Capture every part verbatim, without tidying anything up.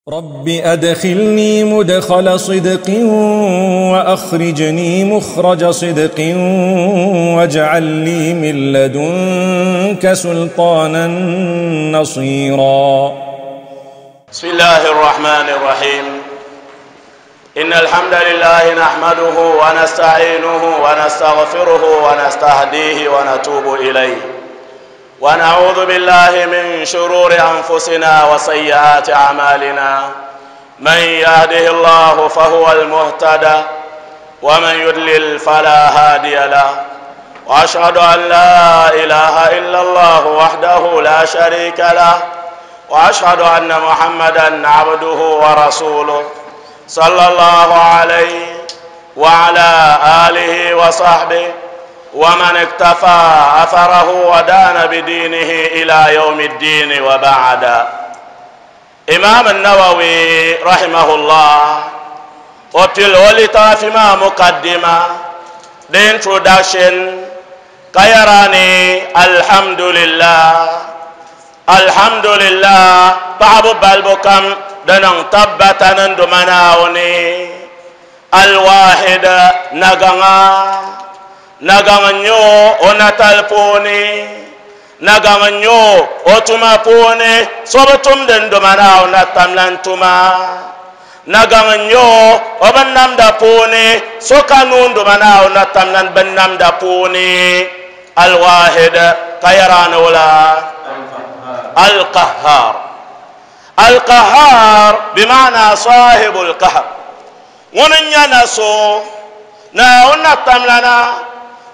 رب أدخلني مدخل صدق وأخرجني مخرج صدق واجعل لي من لدنك سلطانا نصيرا. بسم الله الرحمن الرحيم. إن الحمد لله نحمده ونستعينه ونستغفره ونستهديه ونتوب إليه، ونعوذ بالله من شرور أنفسنا وسيئات أعمالنا. من يهده الله فهو المهتدى، ومن يضلل فلا هادي له، وأشهد أن لا إله إلا الله وحده لا شريك له، وأشهد أن محمدا عبده ورسوله صلى الله عليه وعلى آله وصحبه ومن اكتفى أثره ودان بدينه إلى يوم الدين، وبعد. إمام النووي رحمه الله قتل ولتافما مقدمة the introduction كيراني الحمد لله الحمد لله بعض بالبكم دنن تبتن دمناوني الواحد نغنا نغان نيو o puuni nagaŋ nyo o tuma puuni sobi tumdi n doma Naawuni na tamlan tuma nagaŋ nyo o bin namda puuni so ka nuu n doma Naawuni na tamlan bin namda puuni alwahid ka yɛrani wula alqahar alqahar bimaana sahibu lqahar ŋuni n nyɛ na so Naawuni na tamlana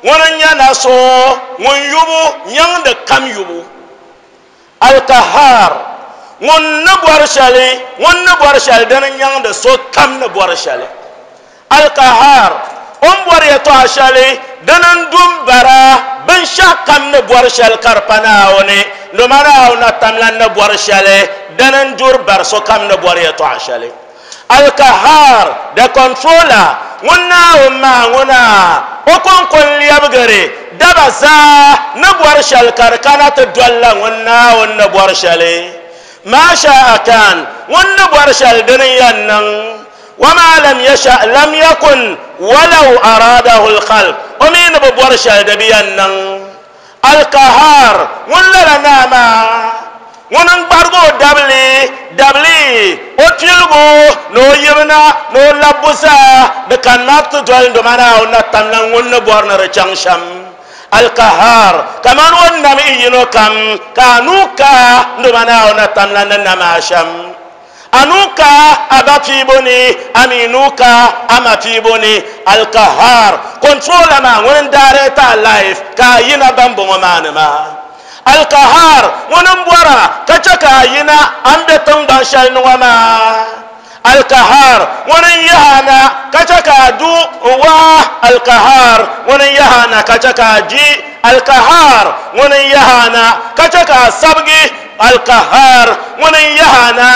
ŋuni n nyɛ na so ŋun yubu nyaŋdi kam yubu alkahar ŋun ni bɔri shɛli ŋun ni bɔri shɛli dini nyaŋdi so kam ni bɔri shɛli alkahar o ni bɔri yɛltɔɣa shɛli dini n du n bara binshaɣu kam ni bɔri shɛli ka di pa Naawuni doma Naawuni na tamla ni bɔri shɛli dini n duri bari so kam ni bɔri yɛltɔɣa shɛli alkahar the controller ŋun Naawuni maa ŋuna o konkon lɛbigiri daba zaa ni bɔri shɛli ka di kana ti dolila ŋun Naawuni ni bɔri shɛli maa shaa kan ŋun ni bɔri shɛli dini yɛn niŋ wama lam yasha lam yakun walau aradahu lkhalq o mi ni bi bɔri shɛli di bi yɛn niŋ alkahar ŋun lala naa maa ŋun n gbarigi o dabili dabili o piligu ni o yibina ni o labbu zaa di kanima ti doli doma Naawuni na tamla ŋun ni bɔri ni di chaŋ shɛm alkahar kaman o ni nam i yino kam ka a nuu ka doma Naawuni na tamla ni nam a shɛm a nuu ka a ba piibu ni a mi nuu ka a ma piibu ni alkahar controller maa ŋun n direct a life ka a yina ban bɔŋɔ maa ni maa alkahar ŋun n bɔra ka chɛ ka a yina an be tiŋgban shɛli ni ŋɔ maa alkahar ŋun n yaha na ka chɛ ka a du n waa alkahar ŋun n yaha na ka chɛ ka a di alkahar ŋun n yaha na ka chɛ ka a sabigi alkahar ŋun n yaha na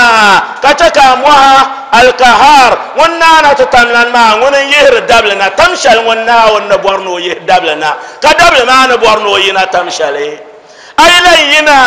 ka chɛ ka a mɔha alkahar ŋun naana ti tamlan maa ŋun n yihiri dabili na tam shɛli ŋun Naawuni ni bɔri ni o yihi dabili na ka dabili maa ni bɔri ni o yina tam shɛli ayla yina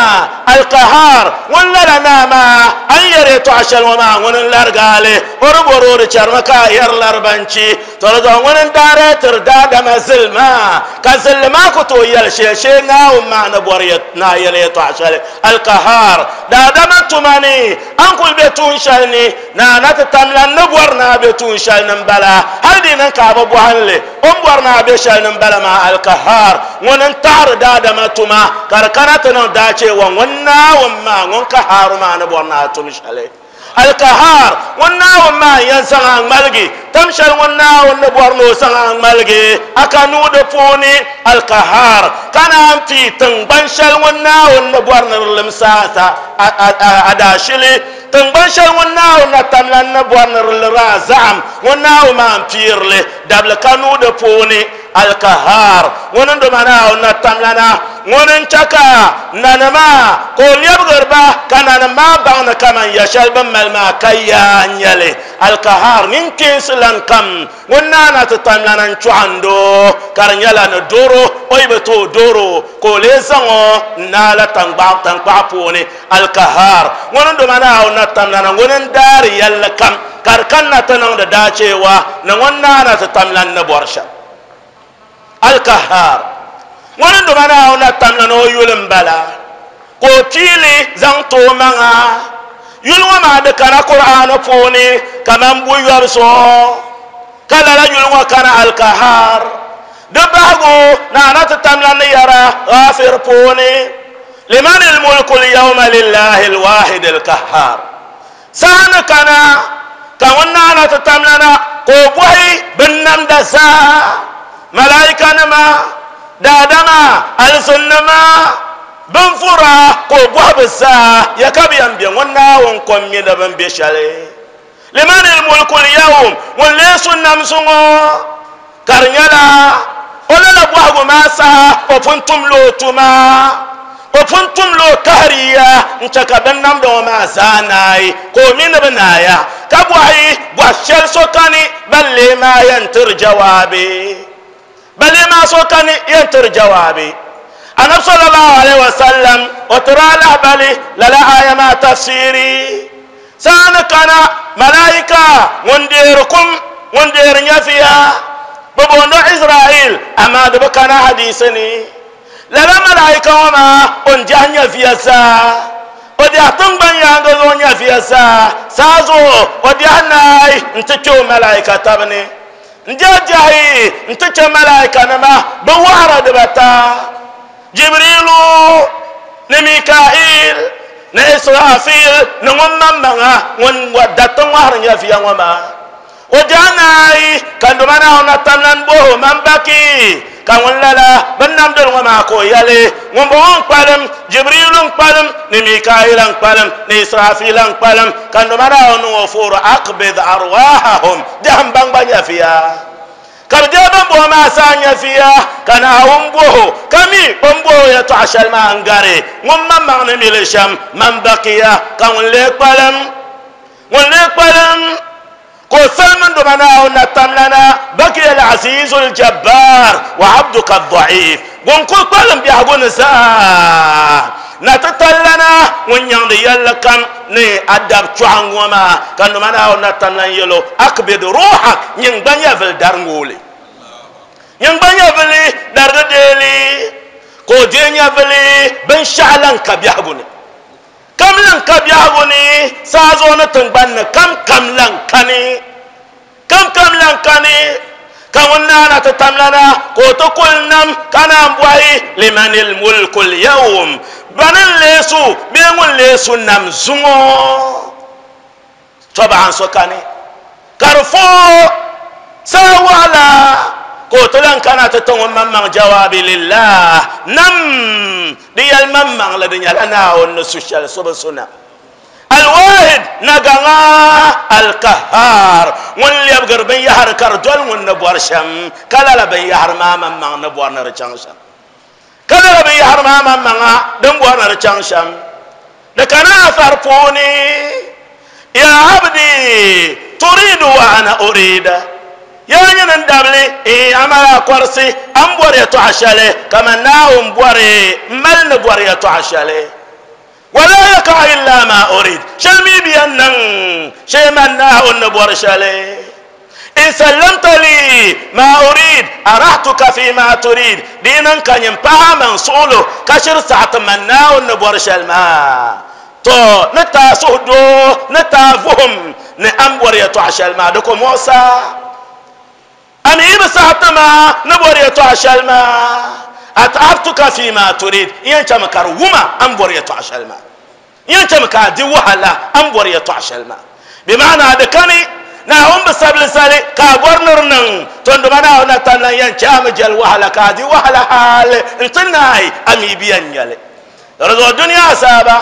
alkahar ŋun lala naa maa an yɛri yɛltɔɣa shɛli ŋɔ maa ŋun n larigaali o di bɔri o di chɛrimi ka a yɛri laribanchi to di zuɣu ŋun n daarɛtiri daadama zilima ka zilli maa ku tooi yɛli shɛli shee Naawuni maa ni bɔri ni a yɛli yɛltɔɣa shɛli alkahar daadama tuma ni an kuli be tuun shɛli ni naa na ti tamla ni bɔri ni a be tuun shɛli ni n bala hali di niŋ ka a bi bɔhinli o ni bɔri ni a be shɛli ni n bala maa alkahar ŋun n taɣari daadama tuma ka di kana ti niŋ daachewa ŋun Naawuni maa ŋun ka haaru maa ni bɔri ni a tum shɛli alkahar ŋun Naawuni maa yɛn zaŋ a ŋmaligi tam shɛli ŋun Naawuni ni bɔri ni o zaŋ a ŋmaligi a ka nuu di puuni alkahar ka naan pii tiŋgbani shɛli ŋun Naawuni ni bɔri ni di limsi a daashili tiŋgbani shɛli ŋun Naawuni na tamla ni bɔri ni di liri a zaɣam ŋun Naawuni maa n piirili dabili ka nuu di puuni alkahar ŋun n doma Naawuni na tamlana ŋun n chɛ ka nanima ka o lɛbigiri ba ka nanim maa baŋ ni kaman ya shɛli bin mali maa ka yaa n nyɛli Alkahar nin kinsilan kam ŋun naana ti tamlana n chɔɣando ka di nyɛla ni doro o yi bi tooi doro ka o lee zaŋ o n naala tankpaɣu puuni. Alkahar ŋuni n doma Naawuni na tamlana ŋuni n daari yɛlli kam ka di kanna ti niŋdi daachewa ni ŋun naana ti tamlan ni bɔri shɛm. Alkahar ŋuni n doma Naawuni na tamlana o yuli n bala ka o piili zaŋ ti o maŋa yuli ŋɔ maa di kana Qur'aani puuni kaman buyɔbu zuɣu ka lala yuli ŋɔ kana Alkahar di bahigu naana ti tamlan ni yɛra Ghafir puuni liman almulku alyawma lillahi alwahid alkahar. Saha ni kana ka ŋun naana ti tamlana ka o bɔhi binnamda zaa malaikanima daadama alizinnima bin fura ka o bɔhi bi zaa ya ka bi yɛn bɛ ŋun Naawuni kom mi ni bin bɛ shɛli. Liman almulku alyawm ŋun lee su nam zuŋɔ ka di nyɛla o lala bɔhigu maa saha o pun tumla o tuma o pun tumla o kahariya n chɛ ka bin namda ŋɔ maa zaa naai ka o mi ni bi naaya ka bɔhi bɔhi shɛli so kani ban lee maa yɛn tiri jawaabi ban lee maa so kani yɛn tiri jawaabi. Annabi sallallahu alaihi wasallam o tiri alahbali lala aya maa tafsiri saani kana malaika ŋun deeri kum ŋun deeri nyafiya bi booni Israel amaa di bi kana hadisi ni lala malaika ŋɔ maa o n diɛhi nyafiya zaa o diɛhi tingbani yaanga zuɣu nyafiya zaa saa zuɣu o diɛhi naai n ti kpe o malaika tabi ni n diɛhi diɛhi n ti chɛ malaika nima bi wahara dibata Jibrilu ni Mikail ni Israfil ni ŋun maŋmaŋa ŋun dati ŋɔhiri nyafiya ŋɔ maa o diɛhi naai ka ndoma Naawuni na tamlan boho man baki ka ŋun lala bin namdili ŋɔ maa ka o yɛli ŋun bɔŋɔ n kpalim Jibrilu n kpalim ni Mikail n kpalim ni Israfil n kpalim ka ndoma Naawuni niŋ o fooro aqbid arwahahum diɛhi n baŋ gba nyafiya ka bi deei bin boho maa saa nyafiya ka Naawuni boho ka mi o ni boho yɛltɔɣa shɛli maa n gari ŋun maŋmaŋ ni mi li shɛm man bakiya ka ŋun lee kpalim ŋun lee kpalim ka o salimi doma Naawuni na tamlana bakiya al-azizu al-jabbar wa abduka ad-da'if ŋun kuli kpalim biɛhigu ni zaa na ti tallana ŋun nyaŋdi yɛlli kam ni adab chɔɣu ŋɔ maa ka ndoma Naawuni na tamlan yɛlo akbid ruhak nyin gba nyɛvili dari ŋooli nyin gba nyɛvili darigi deeli ka o deei nyɛvili binshaɣu lan ka biɛhigu ni kam lan ka biɛhigu ni saa zuɣu ni tingbani ni kam kam lan kani kam kam lan kani ka ŋun naana ti tamlana ka o ti kuli nam ka naan bɔhi liman almulku alyawm bani n lee su bee ŋun lee su nam zuŋɔ tɔbaɣan so kani ka di foo saa waɣala ka o ti lan kana ti ti ŋun maŋmaŋ jawaabi lillah nam di yɛli maŋmaŋli di nyɛla Naawuni ni su shɛli so bi su nam alwahid nagaŋa alkahar ŋun lɛbigiri binyahari ka di doli ŋun ni bɔri shɛm ka lala binyahari maa maŋmaŋ ni bɔri ni di chaŋ shɛm ka lala binyahari maa maŋmaŋa din bɔri ni di chaŋ shɛm di kana afar puuni ya abdi turidu wa ana urida ya nyini n dabili amala kɔrisi an bɔri yɛltɔɣa shɛli kaman Naawuni bɔri n mali ni bɔri yɛltɔɣa shɛli wala yaka illa ma urid shɛli mi bi yɛn niŋ shee man Naawuni ni bɔri shɛli in sallamta li ma urid arahtuka fi ma turid di niŋ ka nyin paɣa maŋ suɣulo ka shiri saɣati man Naawuni ni bɔri shɛli maa to ni taa suhudoo ni taa vuhum ni an bɔri yɛltɔɣa shɛli maa di ko muɣisa ami yi bi saɣati maa ni bɔri yɛltɔɣa shɛli maa at'abtuka fi ma turid yɛn chɛmi ka di wuma an bɔri yɛltɔɣa shɛli maa yɛn chɛmi ka a di wahala an bɔri yɛltɔɣa shɛli maa bi maana di kani Naawuni bi sabili sali ka a bɔri ni di niŋ to ndoma Naawuni na tamlan yɛn chɛ a mi jɛli wahala ka a di wahala hali n ti naai a mi bi yɛn nyɛli di zuɣu duniya azaaba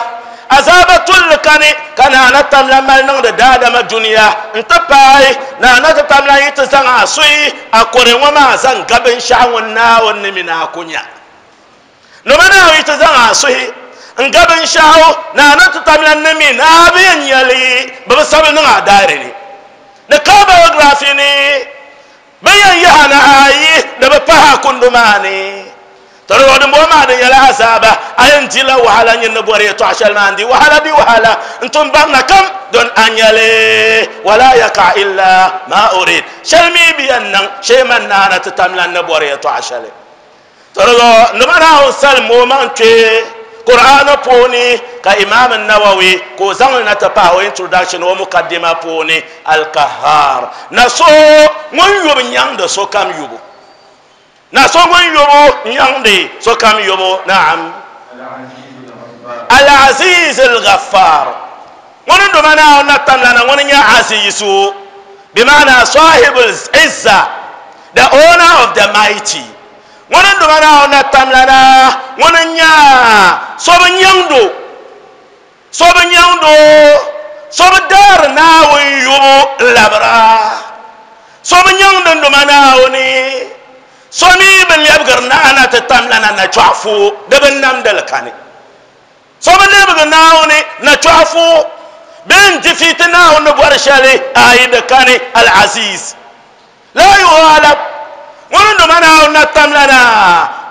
azaaba tulli kani ka naana tamlan mali niŋdi daadama duniya n ti paai naana ti tamlan yi ti zaŋ a suhi a kore ŋɔ maa zaŋ ga binshaɣu ŋun Naawuni ni mi ni a ku nya noma Naawuni yi ti zaŋ a suhi n ga binshaɣu naana ti tamlan ni mi ni a bi yɛn nyɛli bi bi sabili niŋ a daari ni Di ka biography ni bɛ yɛn yaha na ayi di bi pahi kundu maa ni to di din bɔŋɔ maa di nyɛla azaaba a yɛn dila wahala nyin ni bɔri yɛltɔɣa shɛli maa n di wahala di wahala n tum barina kam don a nyɛli wala yaka illa ma urid shɛli mi bi yɛn niŋ shee man naana ti tamla ni bɔri yɛltɔɣa shɛli to di zuɣu nima Naawuni salim o maŋ kpee Qur'an puuni ka Imam Nawawi ka o zaŋli na ti pahi o introduction o mukaddima puuni al-Qahhar na so ŋun yubu nyaŋdi sokam yubu na so ŋun yubu nyaŋdi sokam yubu naam Al-Aziz al-Ghaffar ŋun duma Naawuni na tamlana ŋun nyɛ Azizu bimaana sahibul izza, the owner of the mighty. Ŋun duma Naawuni na tamlana ŋun nyɛ so bi nyaŋdo so bi nyaŋdo so bi daari Naawuni yubu n labira so bi nyaŋdi duma Naawuni so mi bi lɛbigiri naana ti tamlana na chɔɣufu di bi namdili kani so bi lɛbigi Naawuni na chɔɣufu bee n difiiti Naawuni ni bɔri shɛli ayi di kani Al-Aziz la yughalab ŋun duma Naawuni na tamlana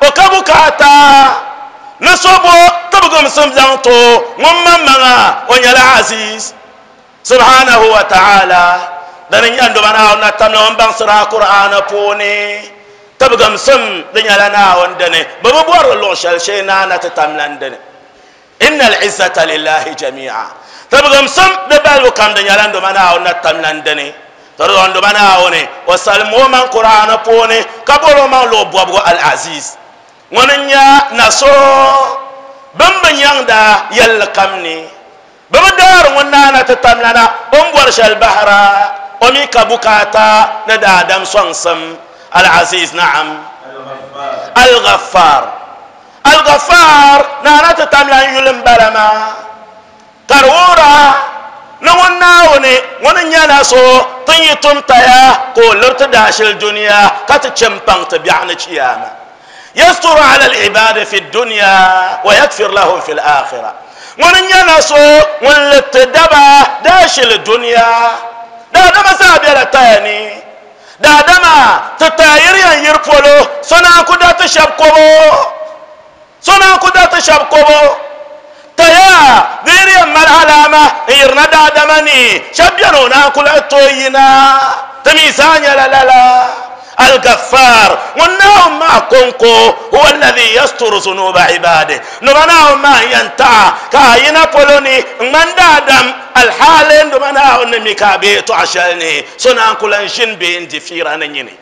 o ka bukaata ni so bo tibigimsim zaŋ to ŋun maŋmaŋa o nyɛla Aziz subhanahu wa ta'ala dini nyɛ duma Naawuni na tamla ŋun baŋsira Qur'ana puuni tibigimsim di nyɛla Naawuni dini bi bi bɔri luɣ shɛli shee naana ti tamlan dini inna al-izzata lillahi jami'a tibigimsim di balibu kam di nyɛla duma Naawuni na tamlan dini to di zuɣu duma Naawuni o salim o maŋ Qur'ana puuni ka bɔri o maŋ luɣ bɔbigu Al-Aziz ŋuni n-nyɛ na so bin bi nyaŋda yɛlli kam ni bi bi daari ŋun naana ti tamlana o ni bɔri shɛli bahira o mi ka bukaata ni daadam sɔŋsim Al-Aziz naam Al-Ghaffar Al-Ghaffar naana ti tamlan yuli n bala maa ka di wuhira ni ŋun Naawuni ŋun n-nyɛ na so tin yi tum taya ka o liriti daashili duniya ka ti chɛ n-paŋ ti biɛɣu ni chiyaama yasturu ala al-ibadi fi dunya wa yakfir lahum fi al-akhirah ŋun n-nyɛ na so ŋun liriti daba daashili duniya daadama zaa bela taya ni daadama ti taya yiri yɛn yiri polo so naan ku da ti shɛba kobo so naan ku da ti shɛba kobo taya di yiri yɛn mali alaama n yirina daadama ni shɛba beni o naan ku lahi tooi yina ti mi zaa nyɛla lala Al-Ghaffar ŋun Naawuni maa konko huwa alladhi yasturu zunuba ibadihi nima Naawuni maa n yɛn taɣa ka a yina polo ni n ŋmani daadam alhaali nima Naawuni ni mi ka a be yɛltɔɣa shɛli ni so naan ku lan ʒini bee n di fiira ni nyini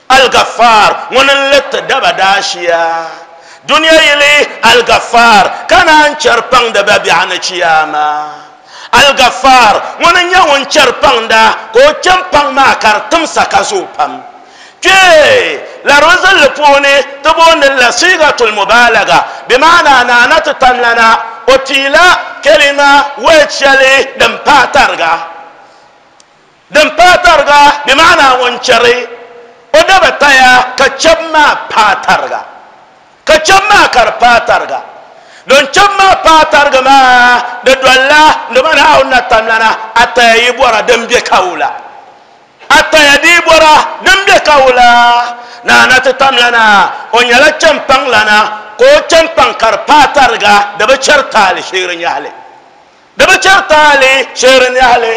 Al-Ghaffar ŋuni n liriti daba daashiya duniya yili Al-Ghaffar ka naan chɛri paŋdi ba biɛɣu ni chiyaama Al-Ghaffar ŋuni n nyɛ ŋun chɛri paŋda ka o chɛn paŋ maa ka di timsa ka zooi pam kpee laribu zilli puuni ti booni la sigatul mubalaga bimaana naana ti tamlana o piila kalima word shɛli din paai tariga din paai tariga bimaana ŋun chɛri o daba taya ka chɛbu maa paai tariga ka chɛbu maa ka di paai tariga don chɛbu maa paai tariga maa di dolila nima Naawuni na tamlana a taya yi bɔra din be kawula a taya di bɔra din be kawula naana ti tamlana o nyɛla chɛmpaŋlana ka o chɛmpaŋ ka di paai tariga di bi chɛri taali sheeri nyahali di bi chɛri taali sheeri nyahali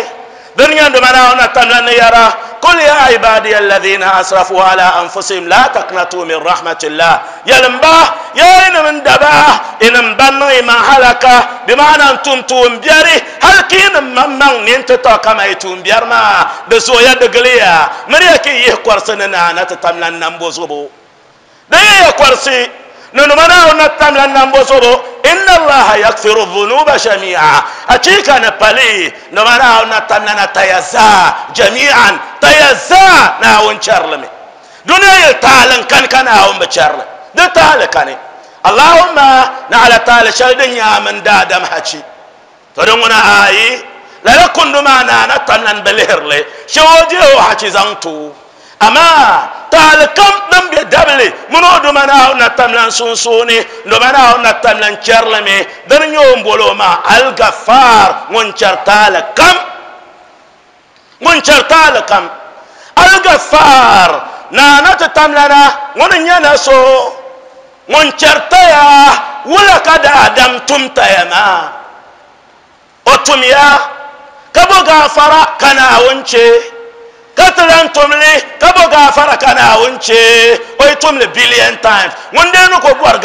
din nyɛ nima Naawuni na tamlan ni yɛra qul ya ibadiya alladhina asrafu ala anfusihim la taqnatu min rahmatillah yɛlimba yaa inim n daba inim ban niŋ imaŋ halaka bimaana n tum tuun biɛri hali ka inim maŋmaŋ nin ti tɔ kama yi tuun biɛri maa di zooya di giliya miriya ka yi yihi kɔrisi ni naana ti tamlan nambo zubu di yihiya kɔrisi ni nima Naawuni na tamlan nambo zubu inna allaha yakfiru dhunuba jami'a hakika ni pali nima Naawuni na tamlana taya zaa jami'an taya zaa Naawuni chɛrilimi duniya yili taali n kani ka Naawuni bi chɛrili di taali kani Allahumma naɣila taali shɛli din nyɛ a mini daadam hachi to di ŋuna ayi lala kundu maa naana tamlan bi lihirili shɛ o deei o hachi zaŋ to amma taali kam din be dabili mini o duma Naawuni na tamlan sunsuuni duma Naawuni na tamlan chɛrilimi dini nyɛ o ni boli o maa Al-Ghaffar ŋun chɛri taali kam ŋun chɛri taali kam al-Ghaffar naana ti tamlana ŋuni n nyɛ na so ŋun chɛri taya wula ka daadam tum taya maa o tumya ka bo gaafara ka Naawuni chɛ ka ti lan tumli ka bo gaafara ka Naawuni chɛ o yi tumli billion times ŋun dee ni ko bɔri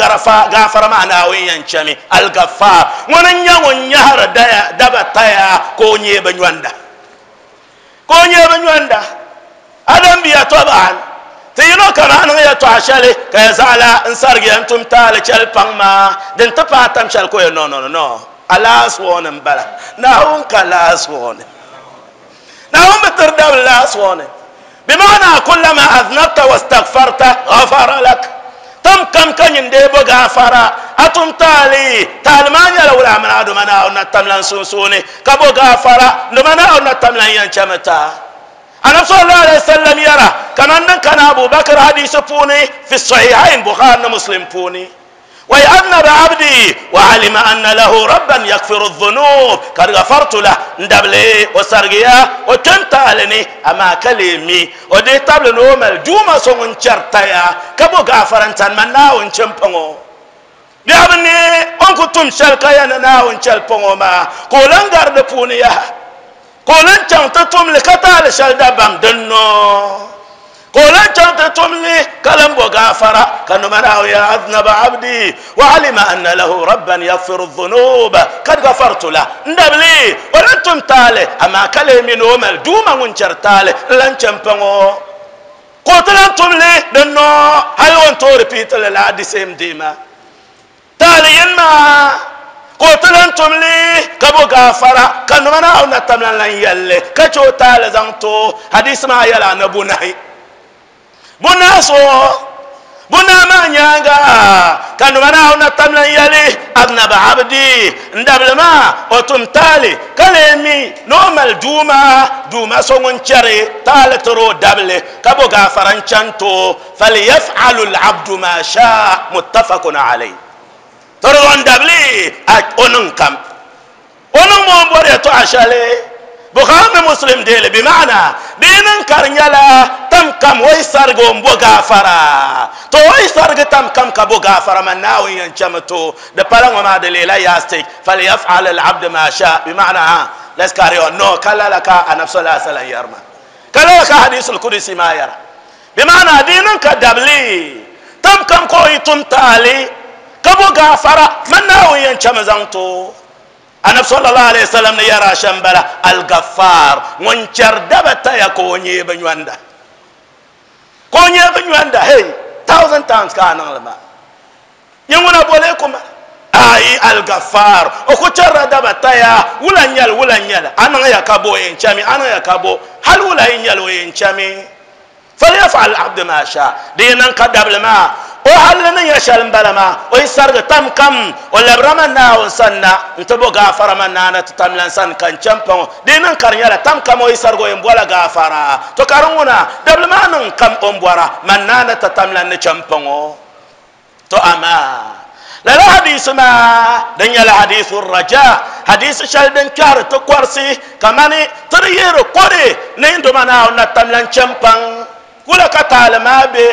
gaafara maa Naawuni yɛn chɛmi al-Ghaffar ŋuni n nyɛ ŋun nyahari daba taya ka o nyɛ bi nyɔnda ka o nyɛ bi nyɔnda adam biya tɔbaan ti yino kama a niŋ yɛltɔɣa shɛli ka ya zaɣala n sarigi n tum taali chɛli paŋ maa din ti paai tam shɛli ko ya no no no a last warning bala Naawuni ka last warning Naawuni bi tiri dabili last warning bimaana kullama aznabta wastaghfarta ghafara lak tam kam ka nyin dee bo gaafara a tum taali taali maa nyɛla wula mini a duma Naawuni na tamlan sunsuuni ka bo gaafara duma Naawuni na tamlan yɛn chɛmi taa Annabi sallallahu alaihi wasallam yara kaman din kana Abu Bakr hadisi puuni fi sahihain Bukhari ni Muslim puuni wa adnaba abdi wa alima anna lahu rabban yaghfiru dhunub kad ghafartu lah ndabli o sargiya o tantalini ama kalimi o de table no mal duma so ngun chartaya ka bo gafarantan man Naawuni chempango bi abni on kutum shalka ya Naawuni chelpango ma ko langar de puuni ya kolan chaŋ ti tumli ka taali shɛli dabam dinno kolan chaŋ ti tumli ka lan bo gaafara ka numa Naawuni ya aznaba abdi wa alima anna lahu rabban yaghfiru dhunuba kad ghafartu lah n dabli o lan tum taali amaa ka lee mini o mali duuma ŋun chɛri taali n lan chɛ n paŋ o ka o ti lan tumli dinno hali o ni tooi repeat li la the same day maa taali yini maa ko tilan tumli ka bo gaafara ka numa Naawuni na tamlan lan yɛlli ka chɛ o taali zaŋ to hadisi maa yɛla ni bunahi bunahi so bunahi maa nyaanga ka numa Naawuni na tamlan yɛli adnaba abdi n dabili maa o tum taali ka lee mi ni o mali duuma duuma so ŋun chɛri taali tiri o dabili ka bo gaafara n chani to falyaf'alu al-abdu ma shaa muttafaqun alayhi tɔrɔ dabli a onin kam onin mo bɔri yɛltɔɣa shɛli Bukhari ni Muslim deeli bi maana dinin kari nyɛla tam kam o yi sarigi o n bo gaafara to o yi sarigi tam kam ka bo gaafara man Naawuni yɛn chɛmi to di pala ŋɔ maa di leela yastik falyaf'al al-abdu ma sha bi maana ha let's carry on no ka lala ka anabi sallallahu alaihi wasallam yɛrima ka lala ka hadisul kudusi maa yɛra bi maana dinin ka dabli tam kam ka o yi tum taali ka bo gaafara man Naawuni yɛn chɛmi zaŋ to anabi sallallahu alaihi wasallam ni yɛra shɛm bala al-Ghaffar ŋun chɛri daba taya ka o nyɛ bi nyɔnda ka o nyɛ bi nyɔnda hey thousand times ka a niŋli maa nyɛ ŋuna boli kuma ayi al-Ghaffar o ku chɛrila daba taya wula n nyɛli wula n nyɛli a niŋ ya ka bo o yɛn chɛmi a niŋ ya ka bo hali wula yi nyɛli o yɛn chɛmi falyaf'al al-abdu ma sha di yi niŋ ka dabili maa o halli ni nyɛ shɛli n bala maa o yi sarigi tam kam o labira man Naawuni sanna n ti bo gaafara man naana ti tamlan sani ka n chɛn paŋ di niŋ ka di nyɛla tam kam o yi sarigi o yɛn bɔla gaafara to ka di ŋuna dabili maa niŋ kam o ni bɔra man naana ti tamlan ni chɛn paŋ o to amaa lala hadisi maa din nyɛla hadisu raja hadisi shɛli din kpɛhiri ti kɔrisi kamani ti di yihiri kɔri ni doma Naawuni na tamlan chɛn paŋ wula ka taali maa be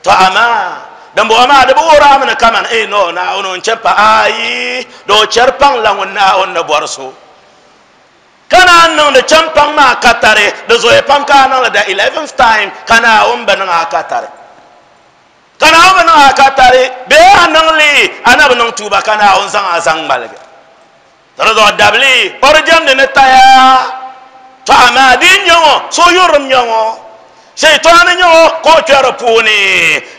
to amaa din bɔŋɔ maa di bi wuhiri mi ni kaman ee no Naawuni n chɛ pa ayi di o chɛri paŋ la ŋun Naawuni ni bɔri so ka naan niŋdi chɛn paŋ maa ka tari di zoya pam ka a niŋdi the eleventh time ka Naawuni bi niŋ a ka tari ka Naawuni bi niŋ a ka tari bee a niŋli a na bi niŋ tuuba ka Naawuni zaŋ a zaŋ ŋmaligi di zuɣu dabili o di jɛmdi ni taya to amaa di nyɛ ŋɔ so yurilim nyɛ ŋɔ shaytani nyɛ ŋɔ ka o kpɛri puuni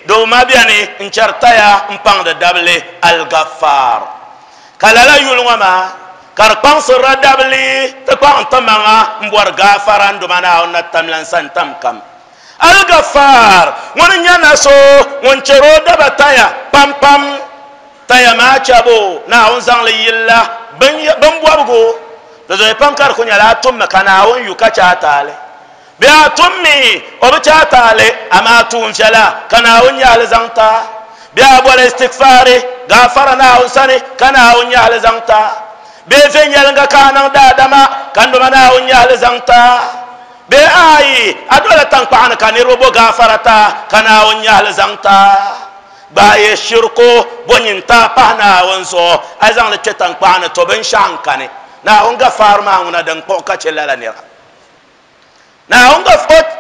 doo ma bɛni n chɛri taya n paŋdi dabili al-Ghaffar ka lala yuli ŋɔ maa ka di kpaŋsirila dabili ti kpaŋ ti maŋa n bɔri gaafara n duma Naawuni na tamlan sani tam kam al-Ghaffar ŋuni n nyɛ na so ŋun chɛri o daba taya pam pam taya maa chɛbu Naawuni zaŋli yilla bin bɔbigu di zoya pam ka di ku nyɛla a tummi ka Naawuni yu ka chɛ a taali bɛ a tummi o bi chɛ a taali amaa tuun viɛla ka Naawuni nyaɣali zaŋ taa bɛ a bɔli istigfaari gaafara Naawuni sani ka Naawuni nyaɣali zaŋ taa bee viɛnyɛlinga ka a niŋ daadama ka n duma Naawuni nyaɣali zaŋ taa Be ayi adola tankpaɣani ka niriba bo gaafarata ka Naawuni nyahali zaŋ ta gbaai shirko bo nyinta pahi Naawuni zuɣu a yi zaŋli kpɛ tankpaɣani to binshaɣu n kani Naawuni gafaar maa ŋuna din kpuɣi ka chɛ lala nira Naawuni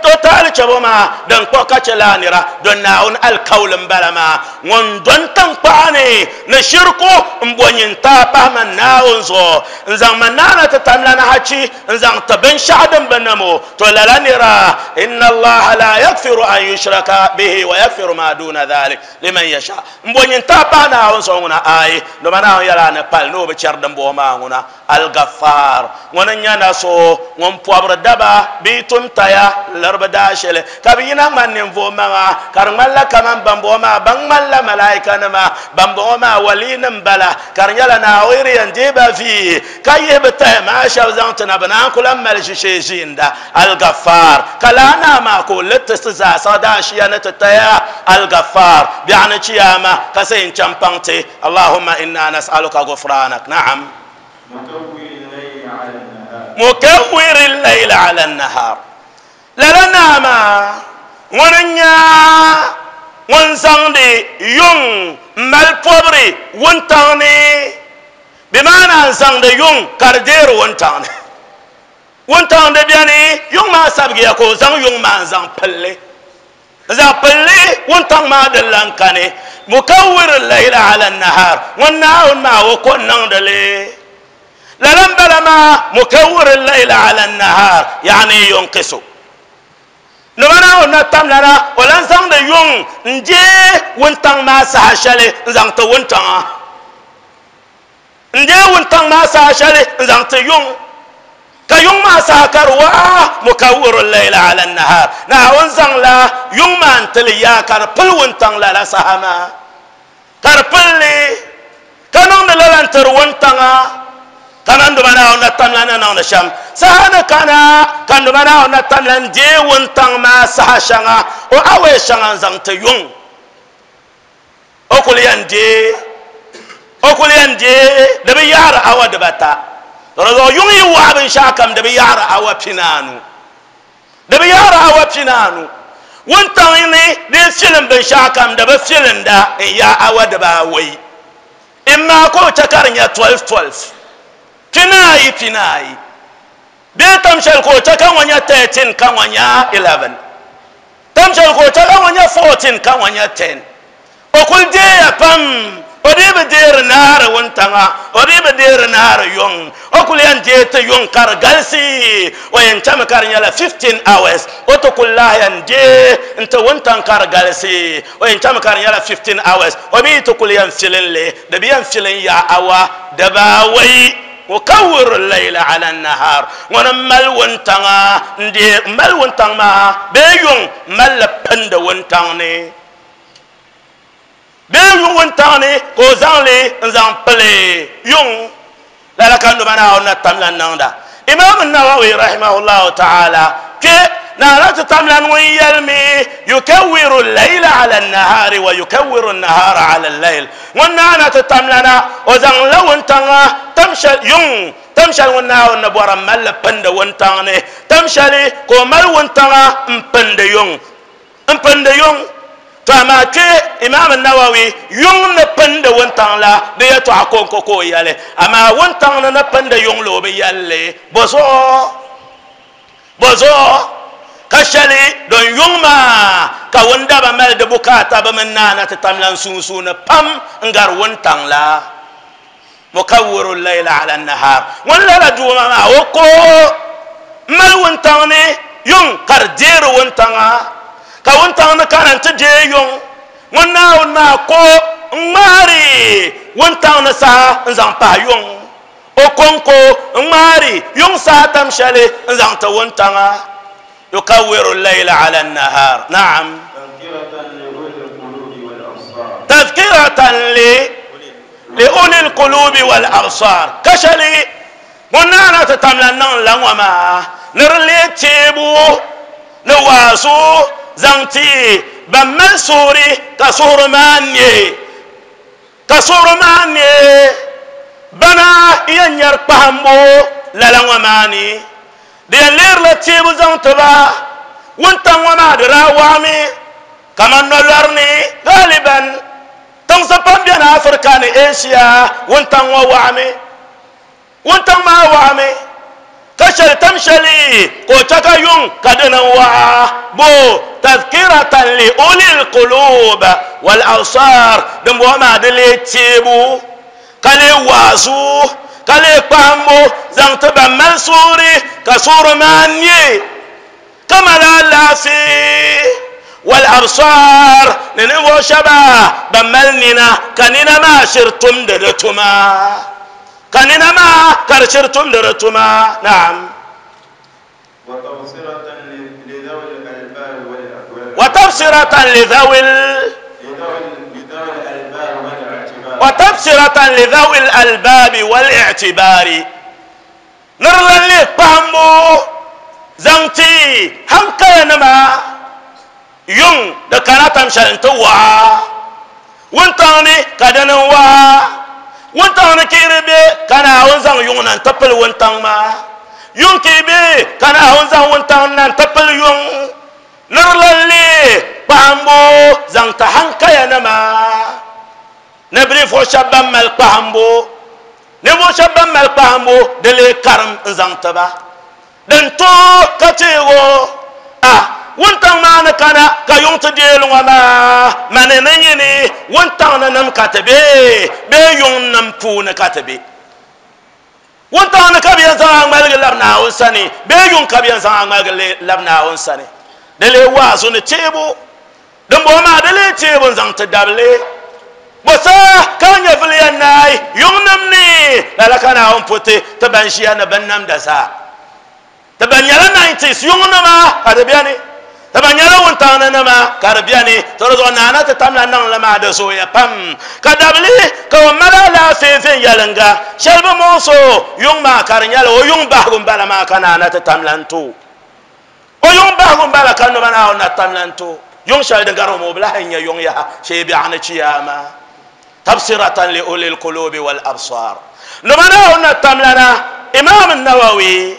o taali chɛbo maa din kpuɣi ka chɛ lala nira don Naawuni alikauli n bala maa ŋun don tankpaɣani ni shirku n bo nyinta pahi man Naawuni zuɣu n zaŋ man naana ti tamlana hachi n zaŋ ti binshaɣu din bi namo to lala nira inna Allaha la yaghfiru an yushraka bihi wa yaghfiru ma duna dhalik liman yasha n bo nyinta pahi Naawuni zuɣu ŋuna ayi doma Naawuni yɛla ni pali ni o bi chɛri din bɔŋɔ maa ŋuna al-Ghaffar ŋuni n nyɛ na so ŋun pɔbiri daba bee tumtaya laribi daa shɛli ka bi yina ŋmani ninvuɣu maŋa ka di ŋmanila kaman bambɔŋɔ maa ban ŋmanila malaika nima bambɔŋɔ maa wali nim bala ka di nyɛla Naawuni yɛn deei ba vii ka yihi bi tahi maa shɛba zaŋ ti na bi naan ku lan mali ʒishee ʒiinda al-Ghaffar ka laa naa maa ka o liti ti zaasa daashiya ni ti taya al-Ghaffar biɛɣu ni chiyaama ka sa yɛn chaŋ paŋ ti Allahumma inna nas'aluka ghufranak na'am mukawwir al-layl ala an-nahar lala naa maa ŋuni n-nyɛ ŋun zaŋdi yuŋ m-mali pɔbiri wuntaŋ ni bi maana n zaŋdi yuŋ ka di deeri wuntaŋ ni wuntaŋ di biɛni yuŋ maa sabigiya ka o zaŋ yuŋ maa n zaŋ pilli n zaŋ pilli wuntaŋ maa din lan kani mukawwir al-layla ala an-nahar ŋun Naawuni maa o ko n-niŋdi li lala n bala maa mukawwir al-layla ala an-nahar yaani yunqisu nima Naawuni na tamlana o lan zaŋdi yuŋ n deei wuntaŋ maa saha shɛli n zaŋ ti wuntaŋa n deei wuntaŋ maa saha shɛli n zaŋ ti yuŋ ka yuŋ maa saha ka di waɣa mukawwir al-layla ala an-nahar Naawuni zaŋla yuŋ maa n tili yaa ka di pili wuntaŋ lala saha maa ka di pilli ka niŋdi lala n tiri wuntaŋa kaman duma Naawuni na tamla na niŋdi shɛm saha ni kana ka duma Naawuni na tamla n deei wuntaŋ maa saha shɛŋa o awɛi shɛŋa n zaŋ ti yuŋ o kuli yɛn deei o kuli yɛn deei di bi yaɣari awa dibata di zuɣu yuŋ yi waɣa binshaɣu kam di bi yaɣari awa pinaanu di bi yaɣari awa pinaanu wuntaŋ ni din filim binshaɣu kam di bi filinda n yaa awa dibaawei imma ka o chɛ ka di nyɛ twelve twelve pinaayi pinaayi bee tam shɛli ka o chɛ ka ŋɔ nyɛ thirteen ka ŋɔ nyɛ eleven tam shɛli ka o chɛ ka ŋɔ nyɛ fourteen ka ŋɔ nyɛ ten o kuli deeya pam o dii bi deeri naari wuntaŋa o dii bi deeri naari yuŋ o kuli yɛn deei ti yuŋ ka di galisi o yɛn chɛmi ka di nyɛla fifteen hours o ti kuli lahi yɛn deei n ti wuntaŋ ka di galisi o yɛn chɛmi ka di nyɛla fifteen hours o mi ti kuli yɛn filin li di bi yɛn filin yaa awa dibaawei mukawwir al-layla ala an-nahar ŋuni mali wuntaŋa n deei mali wuntaŋ maa bee yuŋ malli pindi wuntaŋ ni bee yuŋ wuntaŋ ni ka o zaŋli n zaŋ pili yuŋ lala ka nima Naawuni na tamla niŋda Imam Nawawi rahimahullahu ta'ala kpe naana ti tamla ŋun yɛlimi yukawwiru al-layla ala an-nahari wa yukawwiru an-nahara ala al-layl ŋun naana ti tamlana o zaŋla wuntaŋa tam shɛli yuŋ tam shɛli ŋun Naawuni ni bɔra malli pindi wuntaŋ ni tam shɛli ka o mali wuntaŋa n pindi yuŋ n pindi yuŋ to amaa kpe Imam Nawawi yuŋ ni pindi wuntaŋ la di yɛltɔɣa konko ka o yɛli amaa wuntaŋ ni ni pindi yuŋ la o bi yɛlli bɔzuɣu bɔzuɣu ka shɛli don yuŋ maa ka wundaba mali di bukaata bi mini naana ti tamla n sunsuuni pam n gari wuntaŋ la mukawwiru al-layla ala an-nahar ŋun lala duuma maa o ko mali wuntaŋ ni yuŋ ka di deeri wuntaŋa ka wuntaŋ ni kana n ti deei yuŋ ŋun Naawuni maa ko n ŋmaari wuntaŋ ni saha n zaŋ pahi yuŋ o konko n ŋmaari yuŋ saha tam shɛli n zaŋ ti wuntaŋa yukawwiru al-layla ala an-nahar na'am tadhkiratan li li-uli al-qulubi wal-absar ka shɛli ŋun naana ti tamla niŋ la ŋɔ maa ni di lee teebu ni waazu zaŋ ti ban mali suhuri ka suhuri maa ne ka suhuri maa ne bana yɛn nyɛri kpahimbu lala ŋɔ maa ni di yɛn leerila teebu zaŋ tiba wuntaŋ ŋɔ maa di daa waɣami kaman nolɔri ni galiban tiŋsi pam beni Afirika ni Asia wuntaŋ ŋɔ waɣami wuntaŋ maa waɣami ka shɛli tam shɛli ka o chɛ ka yuŋ ka dini n waɣa bo tadhkiratan li ulil qulub wal absar din bɔŋɔ maa di lee teebu ka lee waazu ka lee kpahimbu zaŋ ti ban mali suuri ka suuri maa nyɛ ka mali alaafee wal absar ni ninvuɣu shɛba ban mali nina ka nina maa shiri tumdi di tuma ka nina maa ka di shiri tumdi di tuma naam وتبصرة لذوي وتبصرة لذوي الألباب والاعتبار نرلن لي فهمو زنتي هم كينما يون دكانا تمشل انتوا وانتاني كدنوا وانتاني كيربي كان عاوزان يون انتبل وانتان ما يون كيبي كان عاوزان وانتان انتبل يون نرلن لي فهمو زنت هم كينما نبري فو شبان مال فهمو نبو شبان مال فهمو دلي كرم زنتبا دنتو كتيرو ah wuntaŋ maa ni kana ka yuŋ ti deeli ŋɔ maa mani ni nyini wuntaŋ ni nim ka ti be bee yuŋ nim puuni ka ti be wuntaŋ ni ka bi yɛn zaŋ a ŋmaligi labi Naawuni sani bee yuŋ ka bi yɛn zaŋ a ŋmaligi labi Naawuni sani di lee waazu ni teebu din bɔŋɔ maa di lee teebu n zaŋ ti dabili bosa ka nyɛvili yɛn naai yuŋ nim ni lala ka Naawuni puti ti ban ʒiya ni bin namda zaa ti ban nyɛla nineties yuŋ nima ka di bɛni ti ban nyɛla wuntaŋ ni nima ka di bɛni to di zuɣu naana ti tamla niŋli maa di zooya pam ka dabili ka o mali alaafee viɛnyɛlinga shɛli bi muɣuso yuŋ maa ka di nyɛla o yuŋ bahigu n bala maa ka naana ti tamla n to o yuŋ bahigu n bala ka nima Naawuni na tamla n to yuŋ shɛli din gari o ma o bi lahi nyɛ yuŋ yaha shee biɛɣu ni chiyaama tabsiratan li ulil qulubi wal absar nima Naawuni na tamlana Imam Nawawi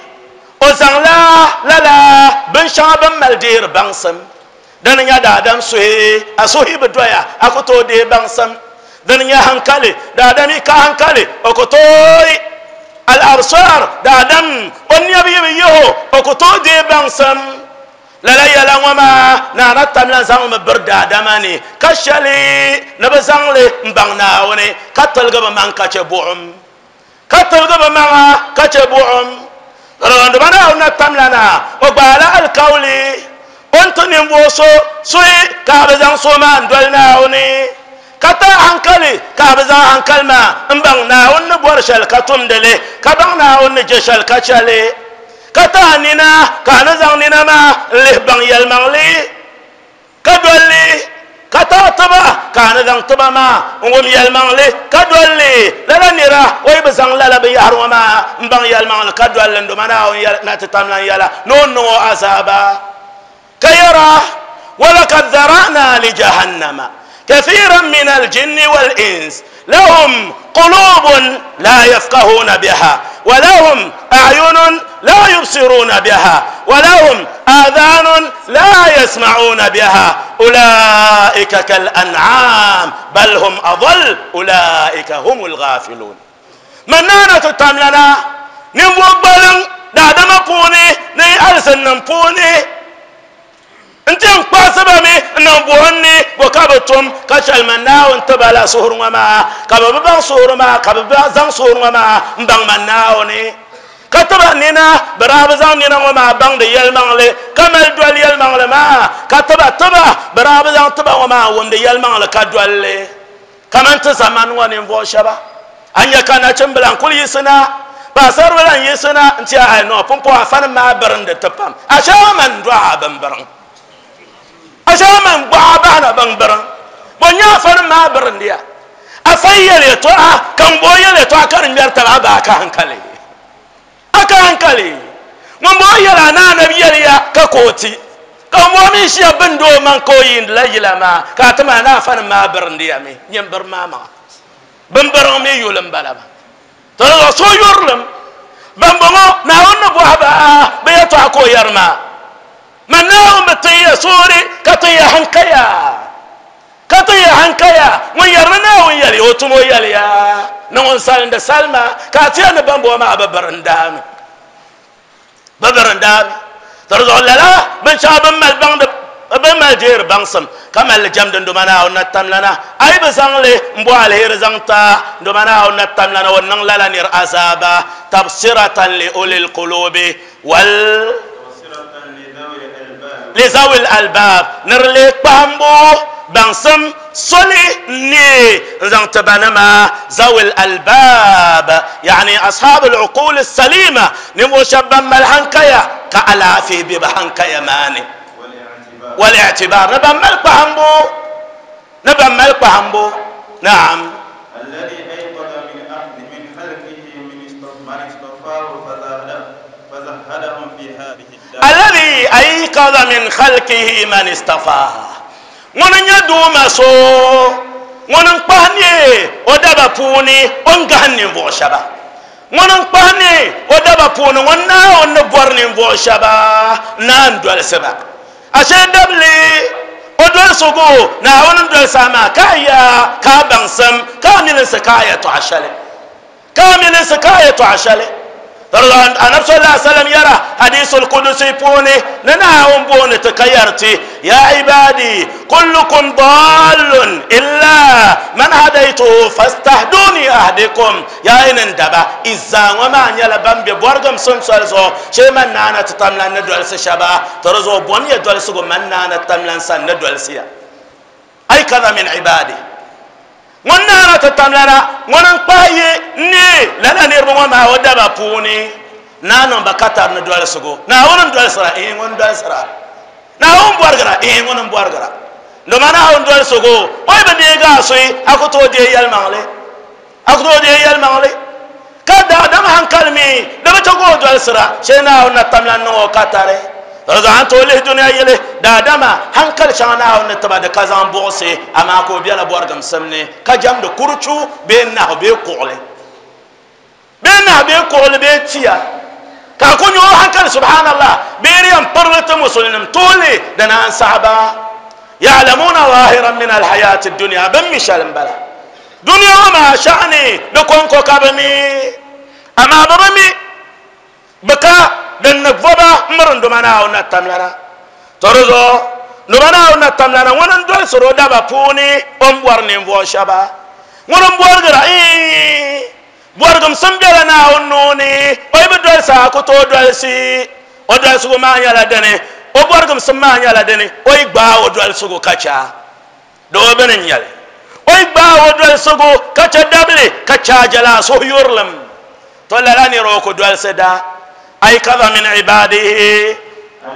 o zaŋla lala binshɛŋa bin mali deeri baŋsim dini nyɛ daadam suhi a suhi bi doya a ku tooi deei baŋsim dini nyɛ hankali daadam yi ka hankali o ku tooi al absar daadam o nɛbi yi bi yiho o ku tooi deei baŋsim lala yɛla ŋɔ maa naana tamla zaŋmi biri daadama ni ka shɛli ni bi zaŋli n baŋ Naawuni ka tiligi bi maŋ ka chɛ buɣum ka tiligi bi maŋa ka chɛ buɣum rɔnduma Naawuni na tamlana o gbaala alikawli o ni ti ninvuɣu so suhi ka bi zaŋ so maa n doli Naawuni ka ta hankali ka bi zaŋ hankali maa n baŋ Naawuni ni bɔri shɛli ka tumdili ka baŋ Naawuni ni je shɛli ka chɛli ka ta nina ka a ni zaŋ nina maa n lihi baŋ yɛlimaŋli ka dolli ka ta tiba ka a ni zaŋ tiba maa n wum yɛlimaŋli ka dolli lala nira o yi bi zaŋ lala binyahari ŋɔ maa n baŋ yɛlimaŋli ka dolli n doma Naawuni na ti tamla n yɛla ni o niŋ o azaaba ka yɛra walakad zara'na li jahannama كثيرا من الجن والإنس لهم قلوب لا يفقهون بها ولهم أعين لا يبصرون بها ولهم آذان لا يسمعون بها أولئك كالأنعام بل هم أضل أولئك هم الغافلون منانة التملنا نبوك بلن دادما puuni ni alizinnim puuni n ti n kpaɣasi ba mi n niŋ buɣum ni bo ka bi tum ka chɛli man Naawuni tiba la suhuri ŋɔ maa ka bi bi baŋ suhuri maa ka bi zaŋ suhuri ŋɔ maa n baŋ man Naawuni ka tiba nina bi daa bi zaŋ nina ŋɔ maa baŋdi yɛlimaŋli ka mali doli yɛlimaŋli maa ka tiba tiba bi daa bi zaŋ tiba ŋɔ maa wumdi yɛlimaŋli ka dolli kaman ti zamani ŋɔ ninvuɣu shɛba a nyɛ ka nachimbila n kuli yiɣisina paɣasaribila n yiɣisina n ti a no pumpɔŋ afanim maa birindi ti pam a shɛba man dɔɣa bin biriŋ a shɛba man gbaɣa bahana bin biriŋ bo nyɛ afanim maa birindiya afa yɛli yɛltɔɣa ka n bo yɛli yɛltɔɣa ka di ŋmɛri taba a ba a ka hankali a ka hankali ŋun bo yɛli a naa nabi yɛliya ka kooti ka n bo mi ʒiya bindi o maŋ ka o yiindila yila maa ka a ti maa na afanim maa birindiya mi nyɛ biri maa maŋa bin biriŋ mi yuli n bala maa to so yurilim Bamboŋɔ Naawuni ni bɔhi ba bɛ yɛltɔɣa ka o yɛri maa man Naawuni bi tin ya soori ka tin ya hankaya ka tin ya hankaya ŋun yɛrimi Naawuni yɛli o tum o yɛliya ni ŋun salindi salima ka a tiya ni bamboŋɔ maa bi biri n daami bi biri n daami to di zuɣu lala binshɛɣu bin mali baŋdi bin mali deeri baŋsim ka mali jɛmdi ndoma Naawuni na tamlana a yi bi zaŋli n bo aliheri zaŋ ta ndoma Naawuni na tamlana o niŋ lala nir azaaba tabsiratan li ulil qulubi wal li zawil albab nir le kpahimbu baŋsim soli ne n zaŋ ti banima zawil albab yani ashabu al-uqul as-salima ninvuɣu shɛba ban mali hankaya ka alaafee be bi hankaya maani والاعتبار نبى ملك بحمبو نبى ملك بحمبو نعم الذي أيقظ من أخذ من خلقه من من اصطفاه فزهدهم في هذه الدار الذي أيقظ من خلقه من اصطفاه ŋun nyɛ duuma so ŋun n kpahi ne o daba puuni o ni gahim ninvuɣu shɛba ŋun n kpahi ne o daba puuni ŋun Naawuni ni bɔri ninvuɣu shɛba naan dolisi ba ashe dabli o dolisigu Naawuni n dolisi a maa ka ya ka baŋsim ka milinsi ka yɛltɔɣa shɛli ka milinsi ka yɛltɔɣa shɛli النبي صلى الله عليه وسلم يرى حديث القدسي بوني ننا بوني تكيرتي يا عبادي كلكم ضال إلا من هديته فاستهدوني أهدكم يا إن اندبا إذا وما نيلا بامبي بورغم سمسلزو شي من نانا تتملان ندولس شبا ترزو بوني دولسو من نانا تتملان سن ندولسيا أي كذا من عبادي ŋun naana ti tamlana ŋun n kpahi ye ne lala niriba ŋɔ maa o daba puuni naa niŋ ba ka tari ni dolisigu Naawuni n dolisira eh ŋun dolisira Naawuni bɔrigira eh ŋun n bɔrigira ndoma Naawuni dolisigu o yi bi deegi a soyi a ku tooi deei yɛlimaŋli a ku tooi deei yɛlimaŋli ka daadam hankali mi di bi chɛ ka o dolisira shee Naawuni na tamlan niŋ o ka tari an tooi lihi duniya yili daadama hankali shɛŋa Naawuni ni tiba di ka zaŋ buɣusi amaa ka o biɛla bɔrigimsim ni ka jɛmdi kuruchu bee nahu bee kuɣuli bee nahu bee kuɣuli bee tia ka a ku nyɛ o hankali subhanallah bee di yɛn pirili ti musulinim tooli di naan saɣaba ya'lamuna zahiran min alhayati dunya bin mi shɛli n bala duniya ŋɔ maa shɛɣani di kɔŋko ka bi mi amaa bi bi mi bi ka din ni voba miri ndoma Naawuni na tamlana to di zuɣu ndoma Naawuni na tamlana ŋun n dolisiri o daba puuni o ni bɔri ninvuɣu shɛba ŋun n bɔrigira bɔrigimsim biɛla Naawuni nuuni o yi bi dolisi a ku tooi dolisi o dolisigu maa nyɛla dini o bɔrigimsim maa nyɛla dini o yi gbaai o dolisigu ka cha doo bini n nyɛli o yi gbaai o dolisigu ka cha dabili ka chaajala suhuyurilim to lala nira o ku dolisi da أيقظ من عباده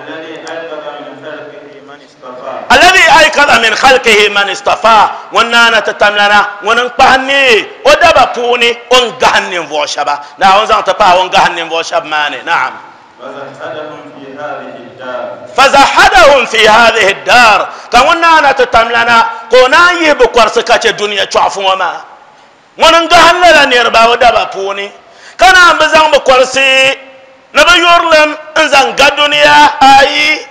الذي أيقظ من خلقه من اصطفى الذي أيقظ من خلقه من اصطفى ونانا تتملنا وننقهني ودبا بوني ونقهني فوشبا لا ونزان تبا ونقهني فوشب ماني نعم فزهدهم في هذه الدار فزهدهم في هذه الدار كونانا تتملنا كونا يبقرسكة الدنيا تعفو وما وننقهن لنا نربا ودبا بوني كان بزان بقرسي nabi yurilim n zaŋ ga duniya ayi